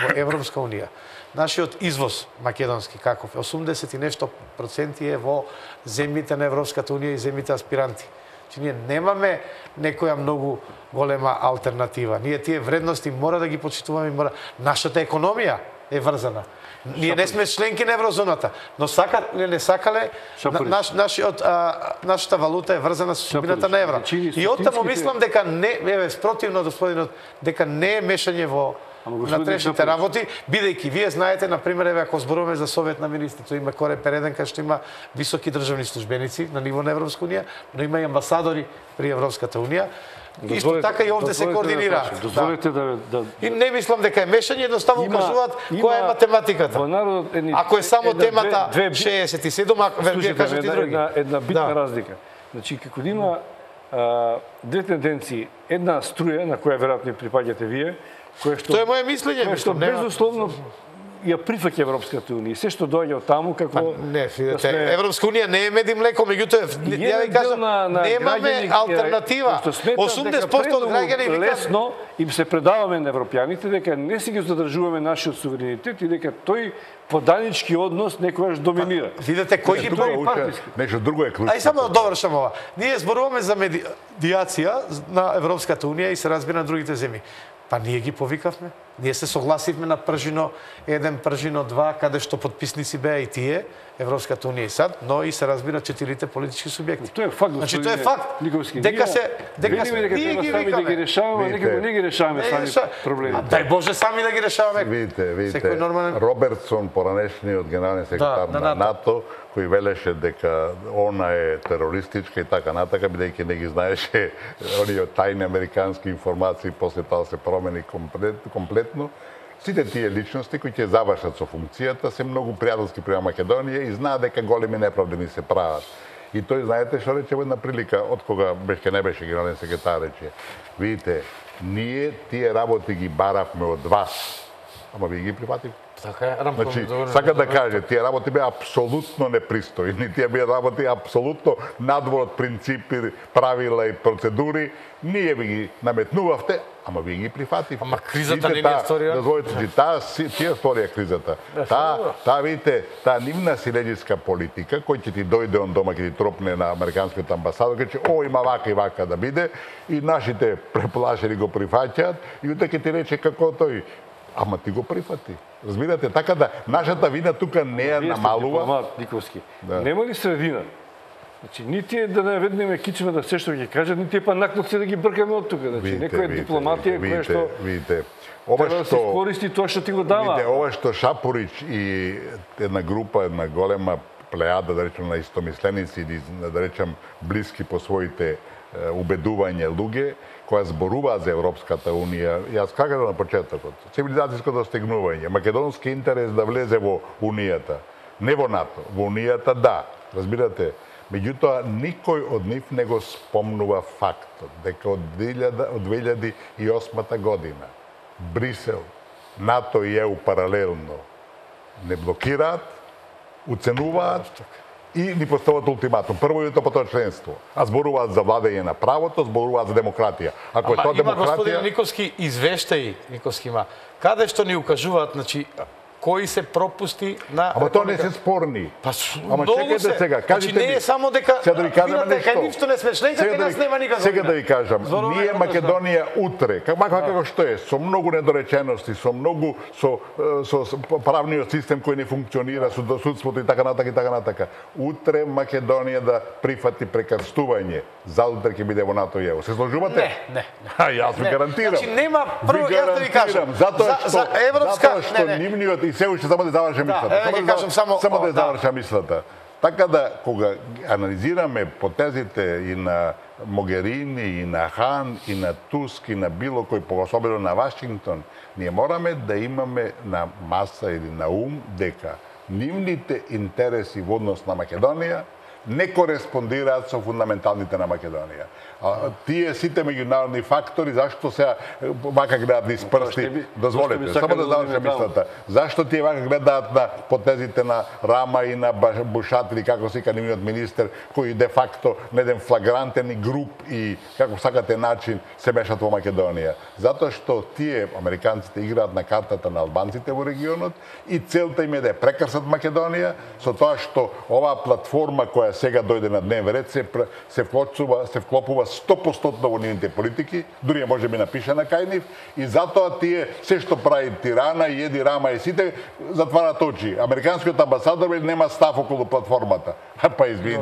во Европска унија. Нашиот извоз македонски каков е 80 и нешто проценти е во земјите на Европската унија и земјите аспиранти. Че ние немаме некоја многу голема алтернатива. Ние тие вредности мора да ги почитуваме, нашата економија е врзана. Ние не сме членки на еврозоната, но не сакале нашата валута е врзана со судбината на евро. И оттаму мислам дека не спротивно господинот дека не е мешање во внатрешните работи, бидејќи вие знаете, на пример, ако зборуваме за Совет на министрите, има Корепер 1 кај што има високи државни службеници на ниво на Европска унија, но има и амбасадори при Европската унија. Исто така и овде се координираат. Дозволете да... И не мислам дека е мешање, едноставно укажуваат која е математиката. Ако е само темата 67, вие кажете други. Една битна разлика. Значи, како да има две тенденции, една струја на која веројатно припаѓате вие, Тоа е моје мислење, што безусловно ја прифаќа Европската унија. Се што доаѓа од таму како не, видите, Европска унија не е мед и млеко, меѓутоа ја ви кажам, немаме алтернатива. 80% од граѓани викаат лесно им се предаваме на европјаните дека не си ги задржуваме нашиот суверенитет и дека тој поданички однос некогаш доминира. Видите кој ги прави нешто друго е клучно. Ај само да довршам ова. Ние зборуваме за медиација на Европската унија и се разбира на другите земји. Па ние ги повикавме. Ние се согласивме на Пржино 1, Пржино 2, каде што подписници беа и тие, Европската унија и САД, но и се разбира 4 политички субјекти. Тоа е факт. Значи тоа е факт. Дека ние ги викаме да ги решаваме, некако не ги решаваме сами проблеми. Дај Боже сами да ги решаваме. Видите, Робертсон, поранешниот генерален секретар на НАТО, кој велеше дека она е терористичка и така натака, бидејќи не ги знаеше оние тајни американски информации, после тоа се промени комплетно. Сите тие личности кои ќе завршат со функцијата се многу пријателски према Македонија и знаат дека големи неправди ни се прават. И тој, знаете што рече во една прилика, од кога не беше генерален секретар, рече, видите, ние тие работи ги баравме од вас, ама вие ги прифативте. Така е, Рамко, Значи, сака да каже, тие работи беа апсолутно непристојни, тие беа работи апсолутно надвор од принципи, правила и процедури. Ние ви ги наметнувавте, ама вие ги прифативте. Ама кризата не е сторија. Дозволите, тие сторија кризата. Видите, таа нивна силеđiска политика, кој ќе ти дојде он дома, ќе ти тропне на американскиот амбасадор, ќе че, има вака и вака да биде, и нашите преплашени го прифаќаат, и утре ќе ти рече како тој. Ама ти го прифати. Разбирате, така да нашата вина тука не е намалува. Дипломат Никовски. Нема ли средина? Значи, нити е да наведнеме кичме да се што ќе кажат, нити е па накнат се да ги бркаме од тука. Значи, некоја дипломатија која што видите, ова што се користи тоа што ти го дава. Видите, ова што Шапорич и една група, една голема плејада, да речем, на истомисленици или да речем блиски по своите убедување луѓе, која зборува за Европската Унија, јас кажав на почетокот, цивилизацијско достигнување, македонски интерес да влезе во Унијата, не во НАТО, во Унијата да, разбирате, меѓутоа никој од нив не го спомнува фактот дека од 2008 година Брисел, НАТО и ЕУ паралелно не блокираат, уценуваат и ни постават ултиматум. Прво и потоа членство. А зборуваат за владење на правото, зборуваат за демократија. Ако е тоа демократија... Има, господин Никовски, извештаи, Никовски има, каде што ни укажуваат, значи, кои се пропусти на... Ама тоа не се спорни. Ама чекайте сега, кажете ми... Значи, не е само дека... Сега да ви кажам нешто. Ништо не сме членка, кај нас нема никаква... Сега да ви кажам, ние Македонија утре, како што е, со многу недоречености, со многу, со правниот систем кој не функционира, со судството и така натака, утре Македонија да прифати прекрстување, за утре ќе биде во НАТО и ЕУ. Се сложувате? Не. Јас ви гарантирам. Значи, нема, прво, јас да ви кажам, затоа што нивниот и се уште само да завршам мислата. Само да завршам мислата. Така да, кога анализираме потезите и на Могерини, и на Хан, и на Туск, и на било кој, особено на Вашингтон, ние мораме да имаме на маса или на ум дека нивните интереси во однос на Македонија не кореспондираат со фундаменталните на Македонија. Тие сите меѓународни фактори, зашто сега вака гледаат низ прсти, дозволете, само да завршам мислата. Зашто тие вака гледаат на потезите на Рама и на Бушат, или како се вика нивниот министер, кои де факто на еден флагрантен и груп и како сакате начин се мешат во Македонија. Затоа што тие американците играат на картата на албанците во регионот и целта им е да прекрсат Македонија со тоа што оваа платформа која сега дојде на дневен ред се вклопува 100% во нивните политики, дури може би напишана кај нив, и затоа тие се што прави Тирана и Еди Рама и сите затварат очи. Американскиот амбасадор нема став околу платформата. Па извини,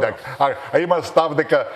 има став дека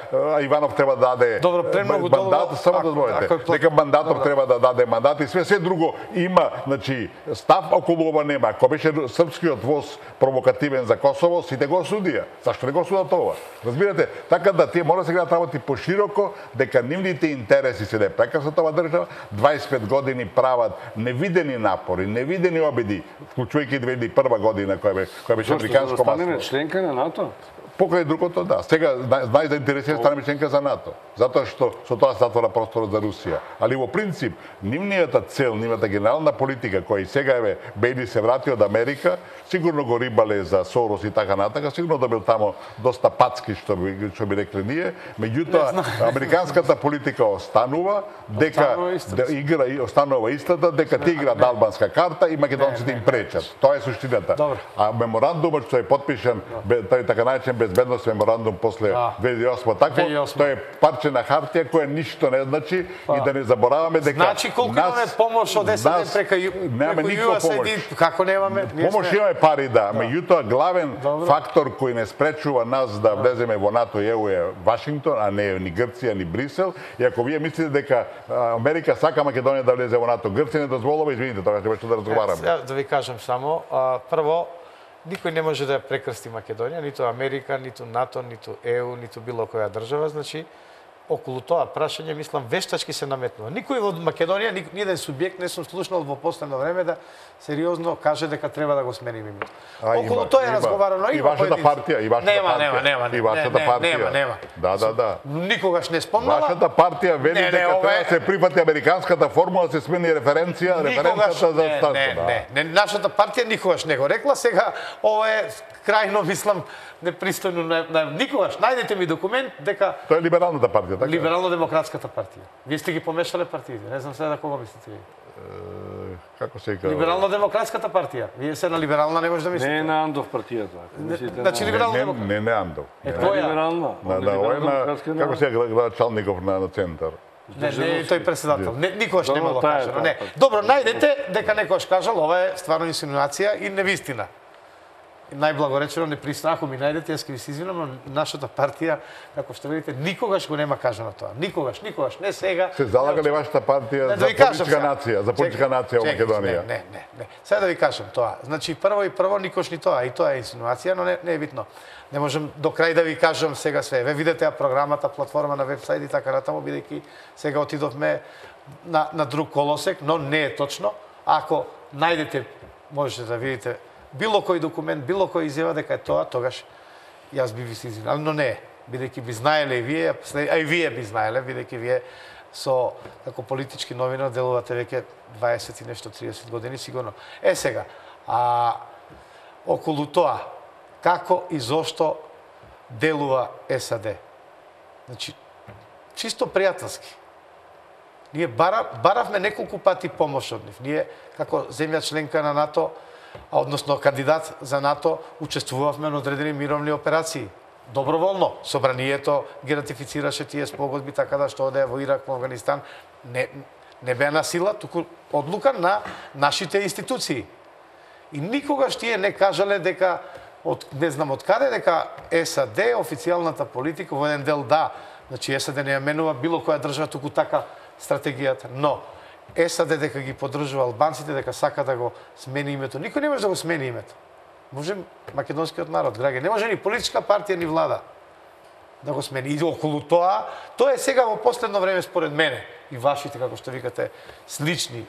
Иванов треба да даде мандат, само дозволете, дека мандатор треба да даде мандат и се друго има, значи, став околу ова нема. Ако беше српскиот воз провокативен за Косово, сите го осудија. Зашто не го осудат ова? Разбирате, така да тие мора да се гледат работи пошироко, дека нивните интереси се да прекрсат ова држава, 25 години прават невидени напори, невидени обиди, вклучувајќи 2001 година која беше американско масло. Станеме членка на НАТО? Покрај другото, да. Сега најзаинтересирани станеме членка за НАТО, затоа што со тоа се затвора просторот за Русија. Али во принцип, нивнијата цел, нивната генерална политика, која и сега Бејли се врати од Америка, сигурно го рибале за Сорос и така натака, сигурно добил тамо доста пацки, што би рекле ние, меѓутоа, американската политика останува, дека игра и останува истата, дека ти играат албанска карта и македонците им пречат. Тоа е суштината. А меморандумот што е подпишан, тој така наречен безбедност меморандум после 2008 такво, тоа е парче на хартија која ништо не значи и да не забораваме дека значи колку имаме помош од САД прека USAID, како немаме? Помош имаме пари, да, меѓутоа главен фактор кој не спречува нас да влеземе во НАТО и ЕУ е Вашингтон, а не ни Грција, ни Брисел. И ако вие мислите дека Америка сака Македонија да влезе во НАТО, Грција не дозволува, извините, тоа ќе беше да разговараме. Да ви кажам само, прво, никој не може да прекрсти Македонија, ниту Америка, ниту НАТО, ниту ЕУ, ниту било која држава, значи околу тоа прашање, мислам, вештачки се наметнува. Никој во Македонија, ниеден субјект не сум слушнал во последно време да сериозно каже дека треба да го смениме името. Околу тоа е разговарано. И вашата партија, и вашата партија. Нема. И вашата партија. Нема. Да. Никогаш не спомнала. Вашата партија вели дека треба да се прифати американската формула, да се смени референцията за статус. Не, нашата партија никогаш не го рекла, сега ова е крајно, мислам, непристојно никогаш. Најдете ми документ дека Тоа е либералната партија, така? Либерално-демократската партија. Вие сте ги помешале партиите. Не знам сега да кого мислите вие. Како се вика? Либерално-демократската партија. Вие се на либерална не може да мислите. Не е на Андов партијата. Значи либерално-демократска. Не Андов. Која? Либерална. Како се вика Чалников на центар? Не, тој председател. Никогаш не имало кажано. Не. Добро, најдете дека некојаш кажал, ова е стварно инсинуација и невистина. Најблагоречено непристано, ако ми најдете, јас ќе ви се извинам, но нашата партија, како што видите, никогаш го нема кажано тоа. Никогаш, не сега. Се залага ли вашата партија за политичка нација, за политичка нација во Македонија? Не. Сега да ви кажам тоа. Значи прво никош ни тоа, и тоа е инсинуација, но не е битно. Не можам до крај да ви кажам сега све. Ве видите програмата, платформа на вебсайт и така натаму, бидејќи сега отидовме на друг колосек, но не е точно. Ако најдете, можете да видите било кој документ, било кој изјава дека е тоа, тогаш јас би ви се извинал, но не е. Бидејќи би знаеле и вие, а и вие би знаеле, бидејќи вие со како политички новинар делувате веќе 20 и нешто 30 години сигурно. Сега, околу тоа како и зошто делува САД. Значи, чисто пријателски. Ние баравме неколку пати помош од нив. Ние, како земја членка на НАТО, односно кандидат за НАТО, учествувавме на одредени мировни операции. Доброволно. Собранието ги ратифицираше тие спогодби, така да што оде во Ирак, во Афганистан. Не беа на сила, туку одлука на нашите институции. И никогаш тие не кажале дека, не знам од каде, дека САД, официјалната политика, во еден дел да, значи САД не ја менува било која држава, туку така стратегијата. Но, САД дека ги поддржува албанците, дека сака да го смени името. Никој не може да го смени името. Може македонскиот народ, граѓани. Не може ни политичка партија, ни влада да го смени. И околу тоа е сега во последно време според мене и вашите, како што викате, слични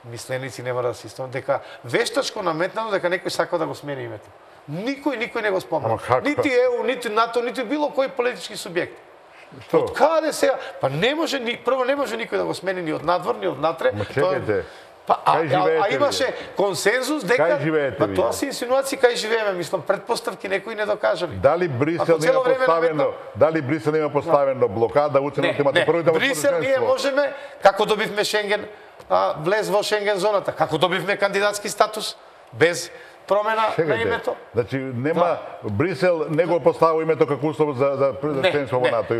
мисленици нема да се истомат, дека вештачко наметнато дека некој сака да го смени името. Никој не го спомна. Нити ЕУ, нити НАТО, нити било кој политички субјект. Од каде сега? Па не може, прво не може никој да го смени ни од надвор, ни од натре. Ма чекайте. А имаше консензус дека... Кај живеете вие? Тоа се инсинуации кај живееме, мислам, предпоставки некои не докажали. Дали Брисел има поставено блокада, уценот имате првите Брисел ние можеме, како добивме Шенген, влез во Шенген зоната, како добивме кандидатски статус, без промена на името. Значи нема Брисел не го поставил името како услов за членство во НАТО.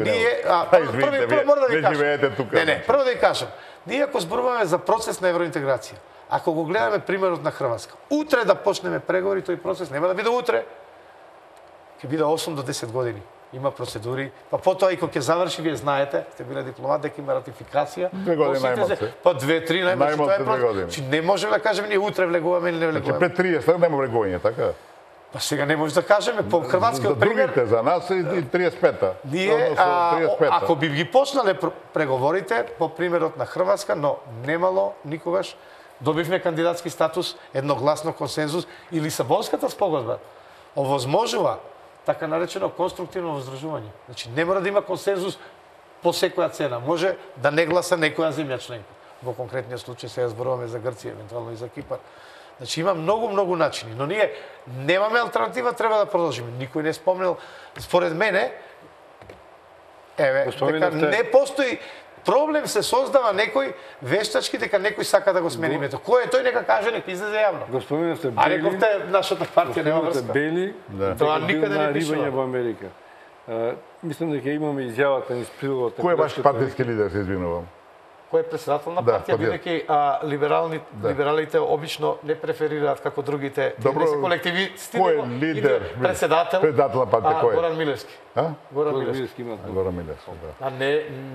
Прво мора да ви кажам. Прво да ви кажам. Ние ако зборуваме за процес на евроинтеграција, ако го гледаме примерот на Хрватска, утре да почнеме преговори, тој процес нема да биде утре. Ќе биде 8 до 10 години. Има процедури, па потоа и кога ќе заврши, вие знаете, сте биле дипломат, дека има ратификација. 2 години најмалку. Па 2-3 најмалку, тоа е процес. Чи не можеме да кажеме ние утре влегуваме или не влегуваме. Значи пред 30 нема влегување, така? Па сега не може да кажеме по хрватскиот пример. За другите, за нас и 35-та. Ние, ако би ги почнале преговорите по примерот на Хрватска, но немало никогаш, добивме кандидатски статус, едногласно консензус и Лисабонската спогодба овозможува така наречено конструктивно воздржување. Значи не мора да има консензус по секоја цена. Може да не гласа некоја земја членка. Во конкретниот случај сега зборуваме за Грција, евентуално и за Кипар. Значи има многу начини, но ние немаме алтернатива, треба да продолжиме. Никој не спомнел, според мене, дека не постои проблем, се создава некој вештачки дека некој сака да го смени името. Кој е тој, нека каже, нека излезе јавно. Го споменавте Бели. А рековте нашата партија нема врска. Бели, тоа никаде не пишува. Во Америка. Мислам дека имаме изјавата низ прилогот. Кој е ваш партиски лидер, се извинувам? кој е председател на Да, партија, бидејќи либералите обично не преферираат како другите, Добро, не се колективисти, кој е него лидер? иде председател Председател на партија кој е? Горан Милевски. Горан Милевски. Горан Милевски, да. А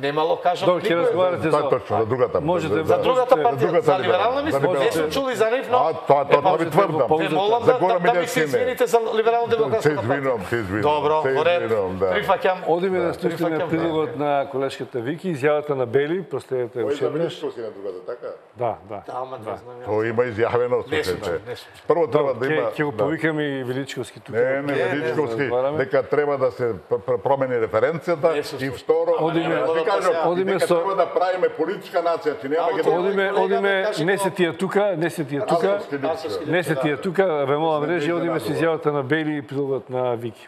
немало кажам. Добро, ќе разговарате Тоа е точно за другата. Можете За другата партија, другата за либерална мислам, не сум чули за нив, но тоа ви тврдам. ве молам За Горан да ми Милевски се не. извините за либерално демократската партија. Се извинувам. Добро, се во ред. извинувам, да. Прифаќам. Одиме да слушаме прилогот на колешката Вики, изјавата на Бели, проследете Кој уште за веднаш. Величковски на другата, така? Да. Ама не знам. Тоа има изјавено, Не сум слушајте. чул, не сум чул. Прво треба да има... Ќе го повикаме и Величковски тука. Не, Величковски, разговараме. дека треба да се промени референцијата и второ, Одиме дека со... треба да правиме политичка нација, че нема Одиме, не се тие тука, не се тие тука, ве молам режи, одиме со изјавата на Бели и прилогот на Вики.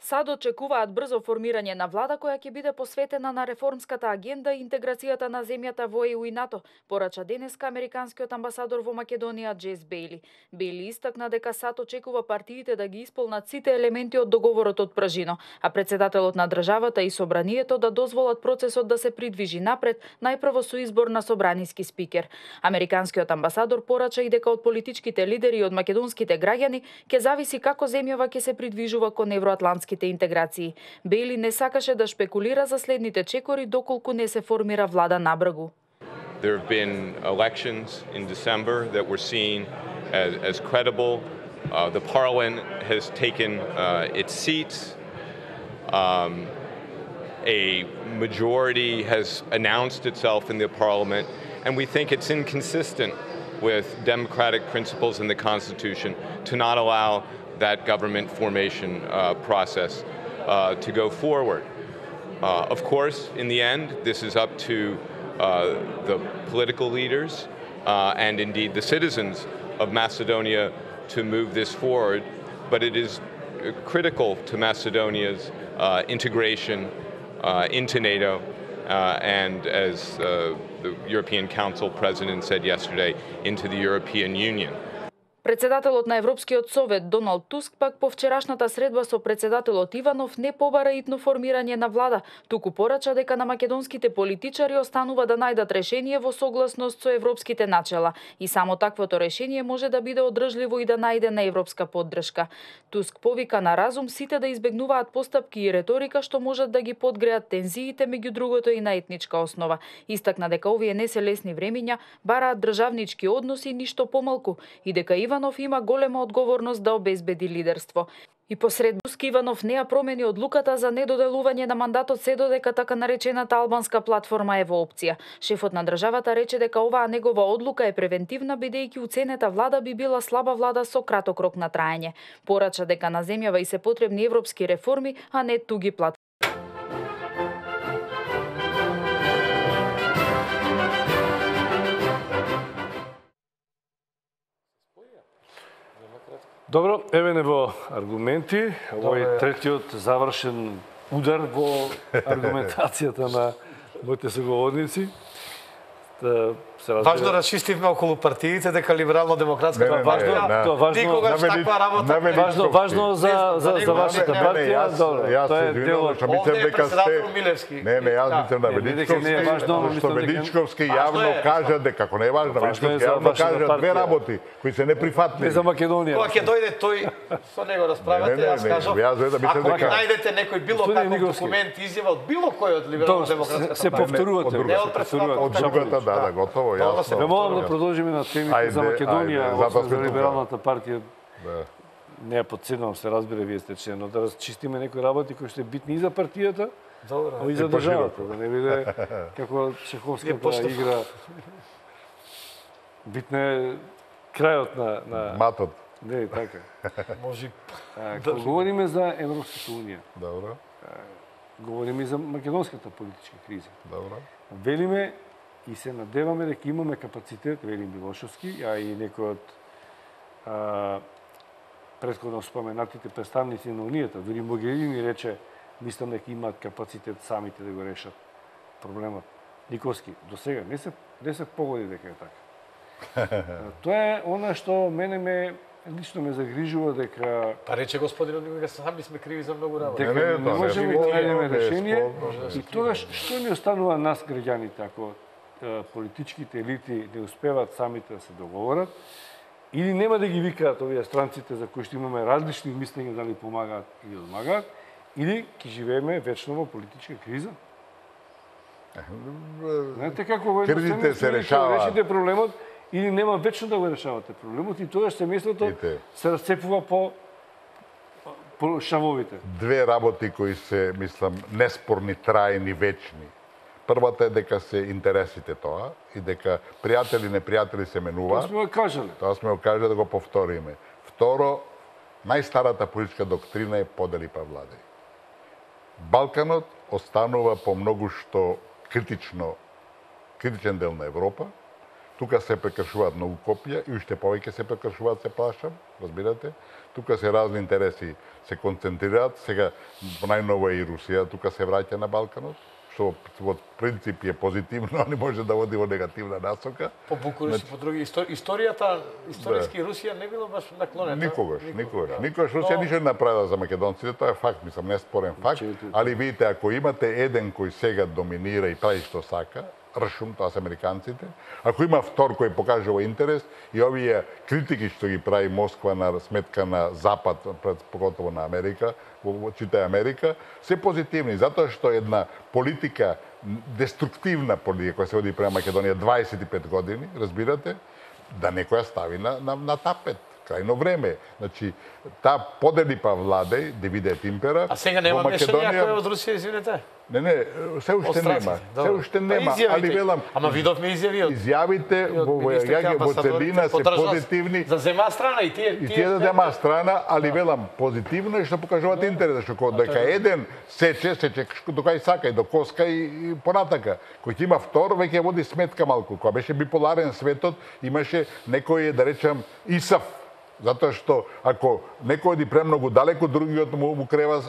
САД очекуваат брзо формирање на влада која ќе биде посветена на реформската агенда и интеграцијата на земјата во ЕУ и НАТО, порача денеска американскиот амбасадор во Македонија Джес Бейли. Бейли истакна дека САД очекува партиите да ги исполнат сите елементи од договорот од Пражино, а председателот на државата и собранието да дозволат процесот да се придвижи напред, најпрво со избор на собраниски спикер. Американскиот амбасадор порача и дека од политичките лидери и од македонските граѓани ќе зависи како земјава ќе се придвижува кон евроатлантски интеграции. Бейли не сакаше да шпекулира за следните чекори доколку не се формира влада набргу. There have been elections in December that were seen as credible. The parliament has taken its seats. A majority has announced itself in the parliament, and we think it's inconsistent with democratic principles in the Constitution to not allow that government formation process to go forward. Of course, in the end, this is up to the political leaders and indeed the citizens of Macedonia to move this forward, but it is critical to Macedonia's integration into NATO and, as the European Council President said yesterday, into the European Union. Председателот на Европскиот совет Доналд Туск пак по вчерашната средба со председателот Иванов не побара итно формирање на влада, туку порача дека на македонските политичари останува да најдат решение во согласност со европските начела и само таквото решение може да биде одржливо и да најде на европска поддршка. Туск повика на разум сите да избегнуваат постапки и реторика што можат да ги подгреат тензиите меѓу другото и на етничка основа. Истакна дека овие не се лесни времиња, бараат државнички односи ништо помалку и дека Иванов има голема одговорност да обезбеди лидерство. И посред Туск Иванов не ја промени одлуката за недоделување на мандатот се додека така наречената албанска платформа е во опција. Шефот на државата рече дека оваа негова одлука е превентивна бидејќи уценета влада би била слаба влада со краток рок на траење. Порача дека на земјава и се потребни европски реформи, а не туги платформи. Добро, еве не во аргументи, овој третиот завршен удар во аргументацијата на моите соговорници. Важно расчистивме околу партиите дека либерално-демократската никогаш таква работа. Важно за вашата партија, добро. Тоа е дел од председател Милевски. Не, јас мислам на Величковски, што Величковски јавно кажа дека ако не е важно, Величковски јавно кажа две работи кои се неприфатливи. Не за Македонија. Кога ќе дојде тој, со него расправате, јас кажам, ако најдете некој било каков документ, изјава од било кој од либерално-демократската се повторувате. Не од председател. Од другата, да, готово, јасно. Ве молам да продолжиме на темите за Македонија, за либералната партија. Не ја подценувам, се разбира, вие сте член, но да расчистиме некои работи кои што е битни и за партијата, а и за државата, да не биде како шаховската игра. Битна е крајот на матот. Не, така. Може. Кога говориме за Европската унија, Добро. говориме и за македонската политичка криза. Добро. Велиме и се надеваме дека имаме капацитет, велим Милошевски, а и некој од претходно споменатите представници на Унијата, дури Могерини рече, мислам дека имаат капацитет самите да го решат проблемот. Никовски, до сега не се погоди дека е така. Тоа е она што мене ме лично ме загрижува дека Па рече господинот дека сами сме криви за многу работи. дека не можеме да најдеме решение и тогаш што ни останува нас граѓаните ако политичките елити не успеваат самите да се договорат или нема да ги викаат овие странците за кои што имаме различни мислења дали помагаат или одмагаат, или ќе живееме вечно во политичка криза. Знаете како Кризите се решаваат. решите проблемот или нема вечно да го решавате проблемот и тогаш семејството се расцепува по шавовите. Две работи кои се, мислам, неспорни, трајни, вечни. Првата е дека се интересите тоа и дека пријатели, непријатели се менува. Тоа сме го кажале. Тоа сме го кажале да го повториме. Второ, најстарата политичка доктрина е подели па владај. Балканот останува по многу што критичен дел на Европа. Тука се прекршуваат многу копија и уште повеќе се прекршуваат, се плашам, разбирате? Тука се разни интереси се концентрираат, сега најново е и Русија, тука се враќа на Балканот, што во принцип е позитивно, а не може да води во негативна насока. По Букуреш и по други историјата, историски Русија не било баш наклонета. Никогаш. Русија ништо не направила за македонците, тоа е факт, мислам, неспорен факт, али видите, ако имате еден кој сега доминира и прави што сака, ршум, тоа се американците. Ако има втор кој покажува интерес и овие критики што ги прави Москва на сметка на Запад, поготово на Америка, читај Америка, се позитивни, затоа што една политика, деструктивна политика која се води према Македонија 25 години, разбирате, да некоја стави на тапет. Крајно време. Значи, таа подели па владај, дивидет импера. А сега нема мешање ако е од Русија, извинете? Не, се уште нема. Се уште нема, али велам. Ама видовме изјави од изјавите во целина се позитивни. За зема страна и тие. И тие да зема страна, али велам позитивно и што покажуваат интерес, што дека еден сече до кај сака и до коска и понатака. Кој ќе има втор, веќе води сметка малку. Кога беше биполарен светот, имаше некој, да речам, Исав. Затоа што ако некој оди премногу далеко, другиот му крева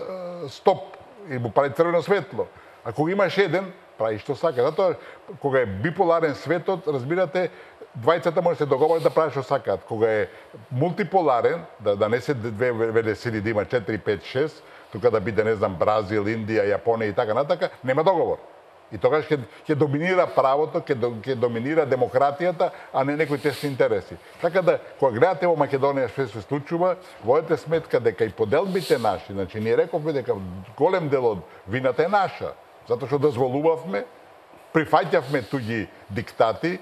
стоп и му прави црвено светло. Ако имаш еден, прави што сака. Затоа кога е биполарен светот, разбирате, двајцата може да се договорат да прави што сакаат. Кога е мултиполарен, да не се две велесили, да има 4, 5, 6, тука да биде, не знам, Бразил, Индија, Јапонија и така натака, нема договор. И тогаш ќе доминира правото, ќе доминира демократијата, а не некои тесни интереси. Така да, кога гледате во Македонија што се случува, водете сметка дека и поделбите наши, значи ние рековме дека голем дел од вината е наша, затоа што дозволувавме, прифаќавме туѓи диктати,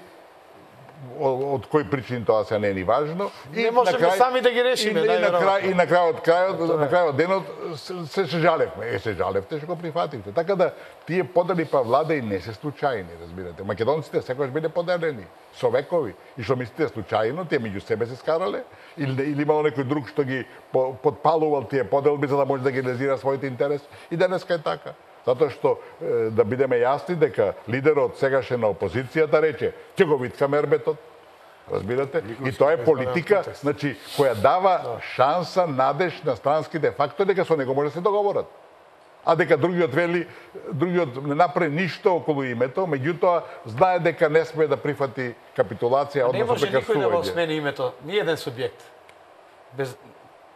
од кои причини тоа се не е ни важно. Не можеме сами да ги решиме. И на крајот денот се жалевме. Се жалевте што го прифативте. Така да, тие подели па владај не се случајни, разбирате. Македонците секогаш биле поделени, со векови. И што мислите случајно, тие меѓу себе се скарале, или имало некој друг што ги подпалувал тие поделби за да може да ги реализира своите интерес. И денеска е така. Затоа што, да бидеме јасни, дека лидерот сегашен на опозицијата рече, ќе го виткаме ербетот. Разбирате? И тоа е политика, значи, која дава шанса, надеж на странските фактори дека со него може да се договорат. А дека другиот не направи ништо околу името, меѓутоа знае дека не сме да прифати капитулација, односно прекршување. Не може никој да го смени името, ни еден субјект.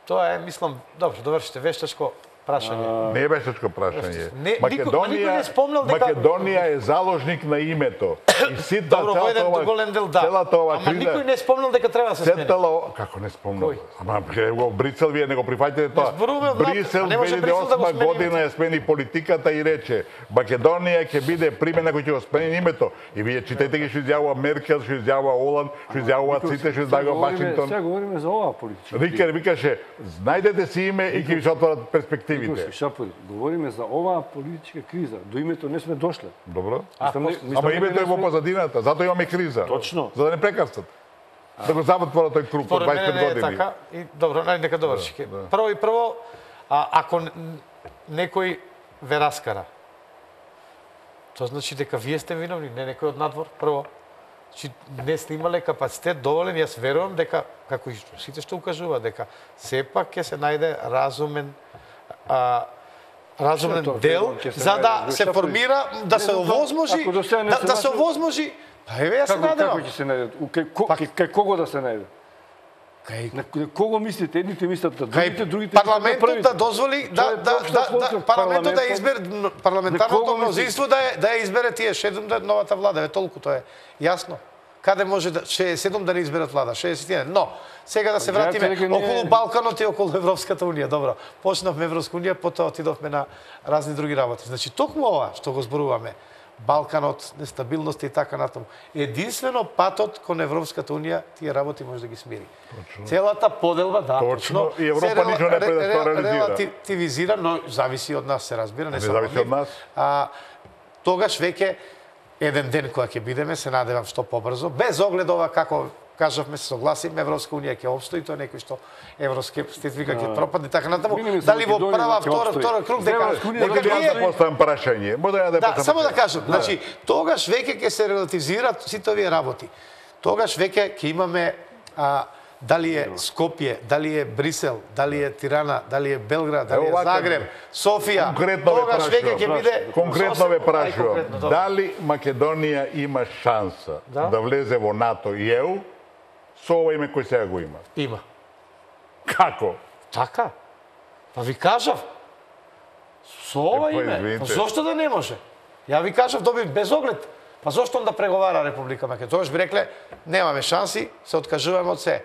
Тоа е, мислам, добро, довршите, вештачко прашање. Не е вештачко прашање. Македонија е заложник на името. И ситна добро, во еден голем дел да. Ама никој не спомнал дека треба да се смени. Како не спомнал? Ама го Брисел вие не го прифаќате тоа. Брисел 2008 година ја смени политиката и рече Македонија ќе биде примена кој ќе го смени името. И вие читајте ги што изјавува Меркел, што изјавува Оланд, што изјавува Ците, што изјавува Вашингтон. Сега говориме за оваа политика. Рикер викаше, знајдете си име и ќе ви се отворат перспективите. Шапори, говориме за оваа политичка криза. До името не сме дошле. Добро. Ама името е во позадината, затоа имаме криза. Точно. За да не прекарцат. Да го затвора тој круг од 25 години. Така, и добро, нека доврши. Прво, ако некој ве раскара, тоа значи дека вие сте виновни, не некој од надвор, прво. Значи, не сте имале капацитет доволен, јас верувам дека, како и сите што укажува, дека сепак ќе се најде разумен дел за да се формира, да се овозможи, да се овозможи. Па еве ја се надевам. Како ќе се најде? Кај кого да се најде? На кого мислите? Едните мислат на другите, другите парламентот да дозволи парламентот да избере парламентарното мнозинство да ја избере тие 7 новата влада, толку тоа е јасно. Каде може да 67 да не изберат влада, 61. Но сега да се вратиме околу Балканот и околу Европската унија. Добро, почнавме Европска унија, потоа отидовме на разни други работи. Значи токму ова што го зборуваме, Балканот, нестабилност и така натаму. Единствено патот кон Европската унија тие работи може да ги смири. Точно. Целата поделба, да, точно. И Европа ништо не пред да реализира. Релативизира, но зависи од нас, се разбира, не само зависи од нас. Тогаш веќе еден ден кога ќе бидеме, се надевам што побрзо, без оглед ова како кажавме, се согласиме, Европска унија ќе опстои, тоа некој што евроскептици ќе пропадне така натаму. Дали во прва, втора круг дека ние да поставам прашање. Да, само да кажам, значи тогаш веќе ќе се релативизираат сите овие работи. Тогаш веќе ќе имаме дали е Скопје, дали е Брисел, дали е Тирана, дали е Белград, дали е Загреб, Софија. Тогаш веќе ќе биде конкретно ве прашувам, дали Македонија има шанса да влезе во НАТО и ЕУ со ова име кој сега го има? Има. Како? Така. Па ви кажав. Со ова име. Па зошто да не може? Ја ви кажав, добив без оглед. Па зошто да преговара Република Македонија? Тогаш би рекле, немаме шанси, се откажуваме од се.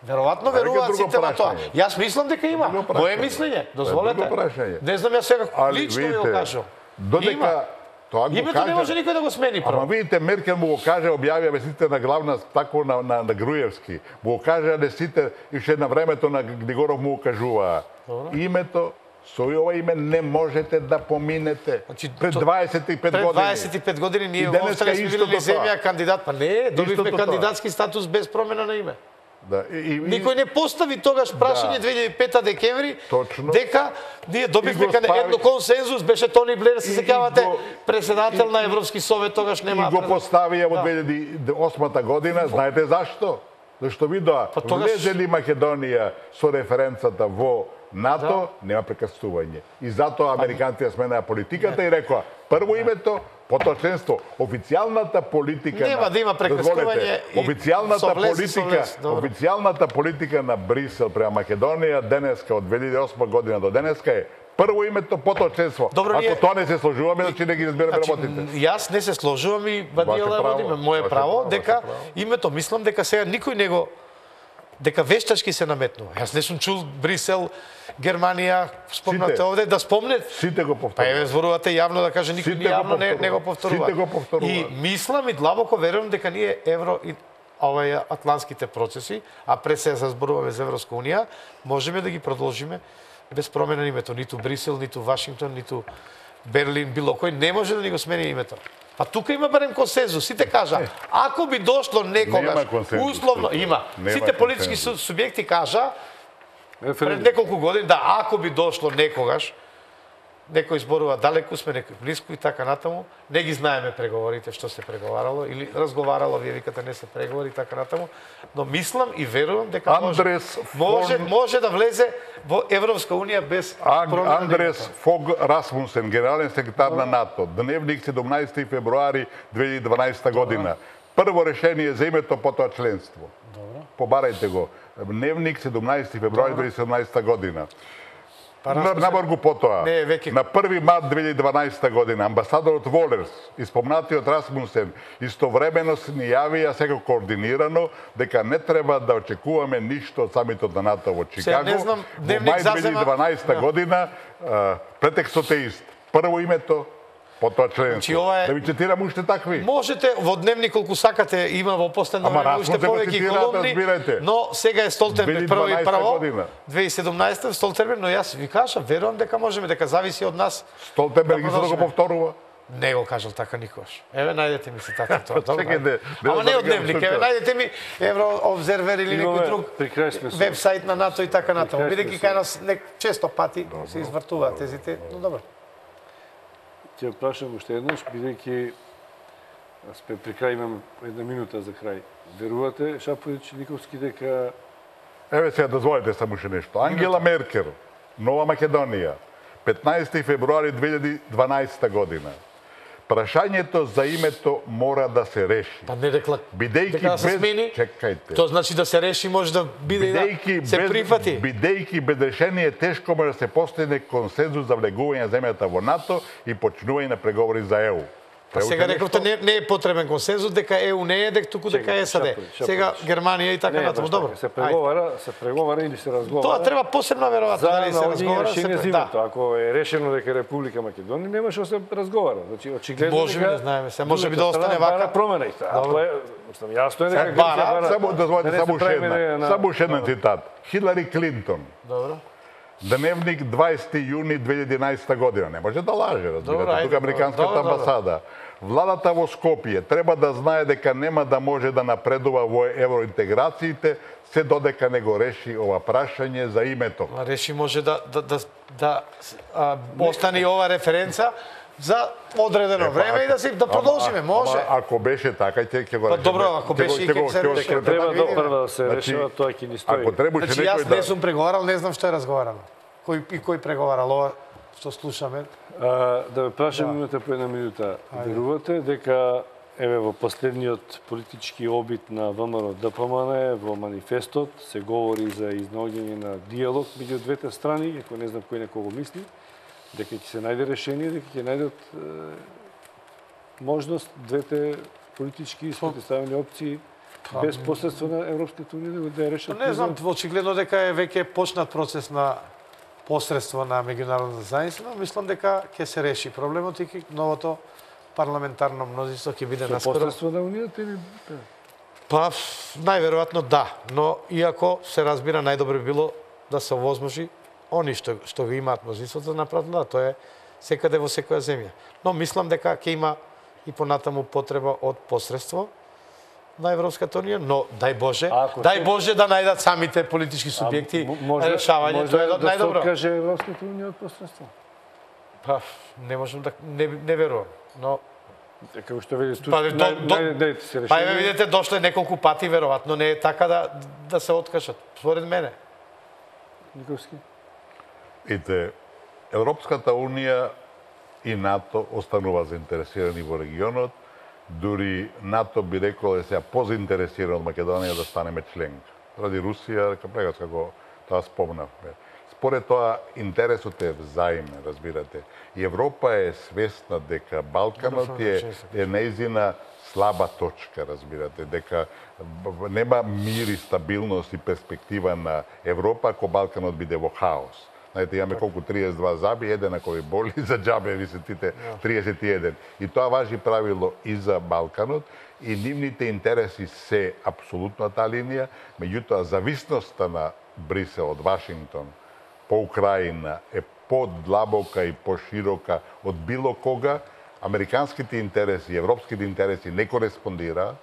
Веројатно веруваат сите во тоа. Јас мислам дека има. Моје мислење, дозволете. Не знам јас сега лично ви го кажам. Додека тоа го името не може никој да го смени прво. Ама видите, Меркел му го каже, објавија вестите на главна тако на Груевски. Му го каже вестите уште на времето на Григоров му го кажуваа. Името со ова име не можете да поминете. Пред 25 години. Пред 25 години ние останали сме били земја кандидат, па не, добивме кандидатски статус без промена на име. Да, никој не постави тогаш прашање 2005 декември дека ние добивме едно консензус, беше Тони Блер, се сеќавате, председател на Европски совет, тогаш нема. И го поставија во 2008 година, знаете зашто? Зашто видоа, влезе ли Македонија со референцата во НАТО, нема прекасување. И затоа американците сменаа политиката и рекоа, прво името, потоа членство. Официјалната политика нема да има прекасување. Официјалната политика на Брисел према Македонија денеска од 2008 година до денеска е прво името, потоа членство. Ако тоа не се сложуваме, значи не ги разбираме работите. Јас не се сложувам и Бадијала водиме. Моје право дека името мислам дека сега никој не го дека вештачки се наметнува. Јас не сум чул Брисел, Германија, спомнате овде, да спомнет. Сите го повторуваат. Па еве зборувате јавно да каже никој јавно не го повторува. Сите го повторуваат. И мислам и длабоко верувам дека ние евро и овие атлантските процеси, а пред се зборуваме за Европска унија, можеме да ги продолжиме без промена на името, ниту Брисел, ниту Вашингтон, ниту Берлин, било кој не може да ни го смени името. Па тука има барем консензус. Сите кажа, ако би дошло некогаш, условно има. Сите политички субјекти кажа пред неколку години да ако би дошло некогаш, некој зборува далеку сме, некој блиску и така натаму, не ги знаеме преговорите што се преговарало или разговарало, вие викате не се преговори и така натаму, но мислам и верувам дека може да влезе во Европска унија без промена. Андрес Фог Расмусен, генерален секретар на НАТО, дневник 17 февруари 2012 година. Прво решение за името, потоа членство. Побарајте го. Дневник 17 февруари 2017 година. Наборгу потоа, на 1 март 2012 година, амбасадорот Волерс и спомнатиот Расмусен истовремено се ни јавија секако координирано дека не треба да очекуваме ништо од самитот на НАТО во Чикаго. Во мај 2012 година претекстот е ист. Прво името, потоа членство. Да ви цитирам уште такви. Можете, во дневник колку сакате, има во последно време уште повеќе колумни, но сега е Столтенберг прво 2017 Столтенберг, но јас ви кажам, верувам дека можеме, дека зависи од нас. Столтенберг да го повторува. Не го кажал така никогаш. Еве најдете ми цитатот тоа. Ама не од дневник, еве најдете ми Еврообзервер или некој друг вебсайт на НАТО и така натаму. Бидејќи кај нас често пати се извртуваат тезите, но добро. Ќе прашам уште еднаш, бидејќи при крај имам една минута за крај. Верувате, Шаповиќ, Никовски, дека... Еве сега дозволите само уште нешто. Ангела Меркел, Нова Македонија, 15 февруари 2012 година. Прашањето за името мора да се реши. Па не дека Бидејќи да се смени, чекајте. тоа значи да се реши, може да биде да се прифати. Бидејќи без решение тешко може да се постигне консензус за влегување на земјата во НАТО и почнување на преговори за ЕУ. Па сега рекавте не е потребен консензус дека ЕУ не е, дека туку дека е САД. Сега Германија и така натаму. Добро. Се преговара или се разговара. Тоа треба посебно веројатно дали се разговара. Ако е решено дека Република Македонија немаше да се разговара. Значи очигледно може да знаеме, се може би да остане вака промена. Тоа е јасно е дека само дозволете само една цитат. Хилари Клинтон. Добро. Дневник 20 јуни 2011 година. Не може да лаже, разбирате. Тука Американската амбасада. Владата во Скопје треба да знае дека нема да може да напредува во евроинтеграциите се додека не го реши ова прашање за името. Реши може да остане ова референца за одредено време и да продолжиме, може. Ако беше така, ќе го решиме. Добро, ако беше и ќе се реши. Треба прво да се решава, тоа ќе ни стои. Значи јас не сум преговарал, не знам што е разговарано. Кој преговарал ова што слушаме? Да ме прашам, имате по една минута. Верувате дека еве во последниот политички обид на ВМРО ДПМН во манифестот се говори за изнаоѓање на диалог меѓу двете страни, ако не знам кој некого мисли, дека ќе се најде решение, дека ќе најдат можност двете политички спротивставени опции без посредство на Европската унија да ја решат. Не знам, очигледно дека е веќе почнат процес на посредство на меѓународната заедница, но мислам дека ќе се реши проблемот и новото парламентарно мнозинство ќе биде наскоро. Со посредство на унијата или Па најверојатно да, но иако се разбира најдобро било да се овозможи они што го имаат мнозинството да направат, да, тоа е секаде во секоја земја. Но мислам дека ќе има и понатаму потреба од посредство на Европската унија, но дај Боже да најдат самите политички субјекти решавање, тоа е најдобро. Може да се откаже Европската унија од посредство? Па не можам да не верувам, но како што видите се реши. Па еве видите дошле неколку пати веројатно не е така да се откажат, според мене. Никовски. Ите, Европската унија и НАТО останува заинтересирани во регионот, дури НАТО би рекол да се позаинтересиран од Македонија да станеме членка. Ради Русија, како тоа спомнавме. Според тоа, интересот е взаимен, разбирате. И Европа е свесна дека Балканот е нејзина слаба точка, разбирате, дека нема мир и стабилност и перспектива на Европа ако Балканот биде во хаос. Знаете, имаме колку 32 заби, еден ако ви боли, за џабе ви се тите 31. И тоа важи правило и за Балканот, и нивните интереси се апсолутно таа линија, меѓутоа зависноста на Брисел од Вашингтон по Украина е подлабока и поширока од било кога. Американските интереси, европските интереси не кореспондира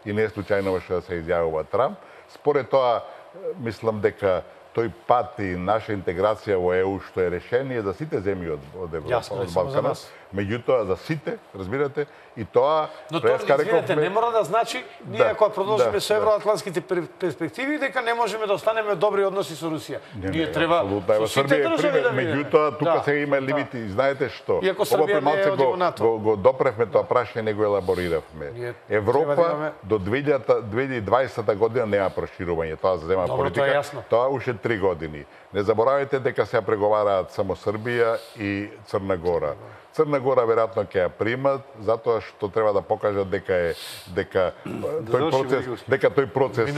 и не е случајно што да се изјавува Трамп. Според тоа, мислам дека тој пат и наша интеграција во ЕУ што е решение за сите земји од Европа, од Балканот, меѓутоа за сите, разбирате, и тоа но тоа извинете, не мора да значи ние ако продолжиме со евроатлантските перспективи дека не можеме да останеме добри односи со Русија. Ние треба со сите држави да видиме. Меѓутоа тука сега има лимити, знаете што? Ова премалце го допревме тоа прашање, не го елабориравме. Европа до 2020 година нема проширување, тоа за зема политика. Тоа уште 3 години. Не заборавајте дека се преговараат само Србија и Црна Гора. Црна Гора веројатно ќе ја примат затоа што треба да покажат дека тој процес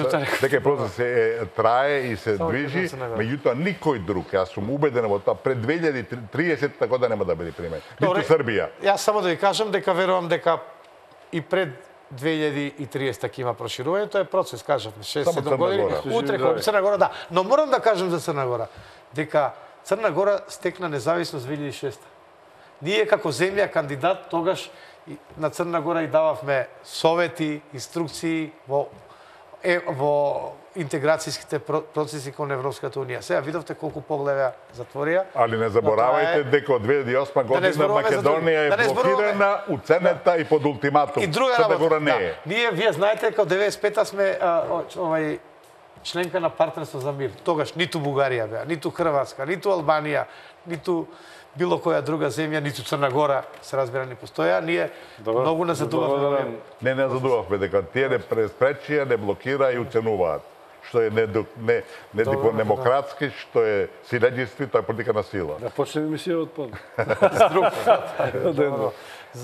трае и се движи, меѓутоа никој друг, јас сум убеден во тоа, пред 2030 година нема да биде примен. Ниту Србија. Јас само да ви кажам дека верувам дека и пред 2030 ќе има проширување, тоа е процес, кажавме, 6-7 години. Утре кога Црна Гора, да. Но морам да кажам за Црна Гора, дека Црна Гора стекна независност 2006. Ние како земја кандидат тогаш на Црна Гора и дававме совети, инструкции во интеграцијските процеси кон Европската унија. Сега видовте колку погледа затворија. Али не заборавајте дека од 2008 година Македонија е блокирана, уценета и под ултиматум. И друга работа. Ние, вие знаете дека од 95-та сме членка на партнерство за мир. Тогаш ниту Бугарија беа, ниту Хрватска, ниту Албанија, ниту било која друга земја, ниту Црна Гора, се разбира, не постоја. Ние многу не задувавме. Не задувавме дека тие не преспречија, не блокира и уценуваат. Што е недемократски, што е силеđiство, тоа е политика на сила. Да почнеме мисија од под.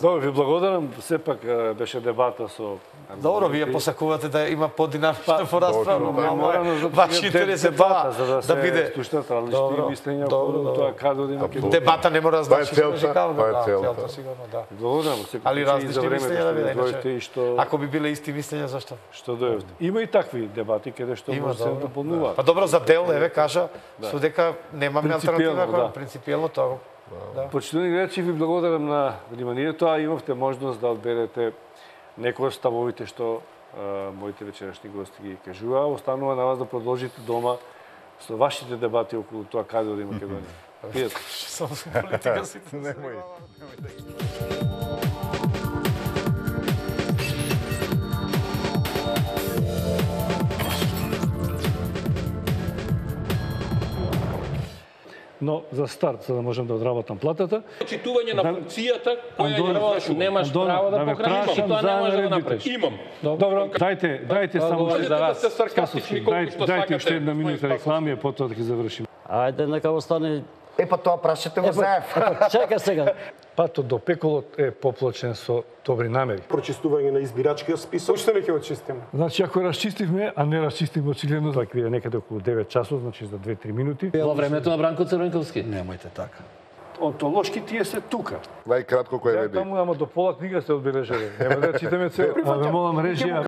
Добро, ви благодарам. Сепак беше дебата со... Добро, вие посакувате да има подинамична порасправа. Ваш интерес е тоа, да биде... слушнат различни мислења околу тоа каде да има. Дебата не мора да значи целта, тоа е целта. Сигурно, да. Благодарам. Али различни мислења да биде, иначе... Ако би биле исти мислења, зашто? Што дојдете. Има и такви дебати каде што може се дополнуваат. Па добро, за дел, еве, кажа, со дека немаме алтернатива, принципиелно тоа. Почитувани гледачи, ви благодарам на вниманието, а имавте можност да одберете некои од ставовите што моите вечерашни гости ги кажуваа. Останува на вас да продолжите дома со вашите дебати околу тоа каде оди Македонија. Пријатно. Само политика си. Немој. Но за старт, за да можем да одработам платата, Читување на функцијата која ја извршува. Немаш право да покраниш и тоа не може да направиш. Имам. Добро, дајте само говори за вас. сте саркастични колку што дајте уште сакате. една минута реклами, а потоа да ги завршиме. Ајде, нека остане... Па тоа прашате го за ЕФ. Чека сега. Патот до пеколот е поплачен со добри намери. Прочистување на избирачкиот список. Уште не ќе го чистиме. Значи, ако расчистивме, а не расчистивме очигледно, така биде некаде околу 9 часот, значи за 2-3 минути. Во времето на Бранко Црвенковски. Немојте така. Онтолошки тие се тука. Најкратко кој Ја веди. таму, ама до пола книга се одбележали. Нема да читаме цел. А ве молам режија,